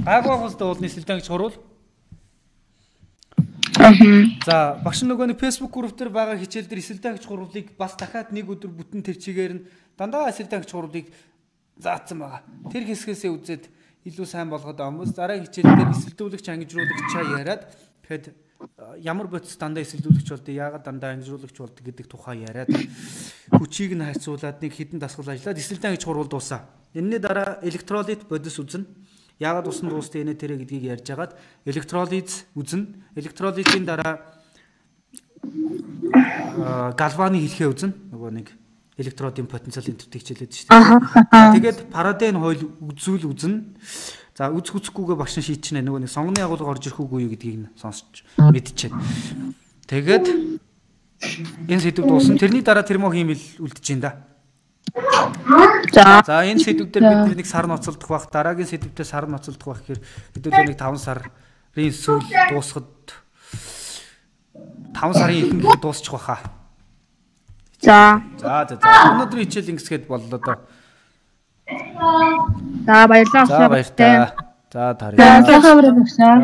[SPEAKER 1] Гайгүй хөлдөө уулны сэлдэн гэж хурвал. За багш нөгөө нэг Facebook group дээр байгаа хичээл дээр эсэлдэн гэж хурвлыг бас дахиад нэг өдөр бүтэн тэр чигээр нь дандаа эсэлдэн гэж хурвлыг заасан байгаа. Тэр хэсгээсээ үзээд илүү сайн болгоод амс дараагийн хичээл дээр эсэлдүүлэгч ангижруулагчаа яриад тэгэхэд ямар бодис дандаа эсэлдүүлэгч болдог, яагаад дандаа ангижруулагч болдог гэдэг тухай яриад хүчийг нь харьцуулаад нэг хідэн дасгал ажиллаад эсэлдэн гэж хурвал дуусаа. Энэний дараа электролит бодис үзнэ. Яагаад усан дуустай энэ тэрэ гэдгийг ярьж агаад электролиз үзнэ. Электролизийн дараа галваны хэлхээ үзнэ. Нөгөө нэг электродын потенциал энтертэй хичээлээд шүү дээ. Тэгээд парадын хойл үзүүл үзнэ. За үзэхгүйгээ багш нь шийдчихнэ. Нөгөө нэг сонгоны агуулга орж ирэх үгүй юу гэдгийг нь сонсч мэдчихэв. Тэгээд энэ сэдв дуусна. Тэрний дараа термохимил үлдэж байна да. За энэ сэдв дээр бид нэг сар ноцолдох бах, дараагийн сэдвтээ сар ноцолдох бах гэхээр хэдүүлээ нэг 5 сарын сүүл дуусахад 5 сарын ихэнх дуусчих баха.
[SPEAKER 3] За.
[SPEAKER 1] Өнөөдрийн хичээл ингэсгээд боллоо доо.
[SPEAKER 3] За баярлалаа.
[SPEAKER 1] За баярлалаа. За тарай.
[SPEAKER 3] За хамраа багшаа.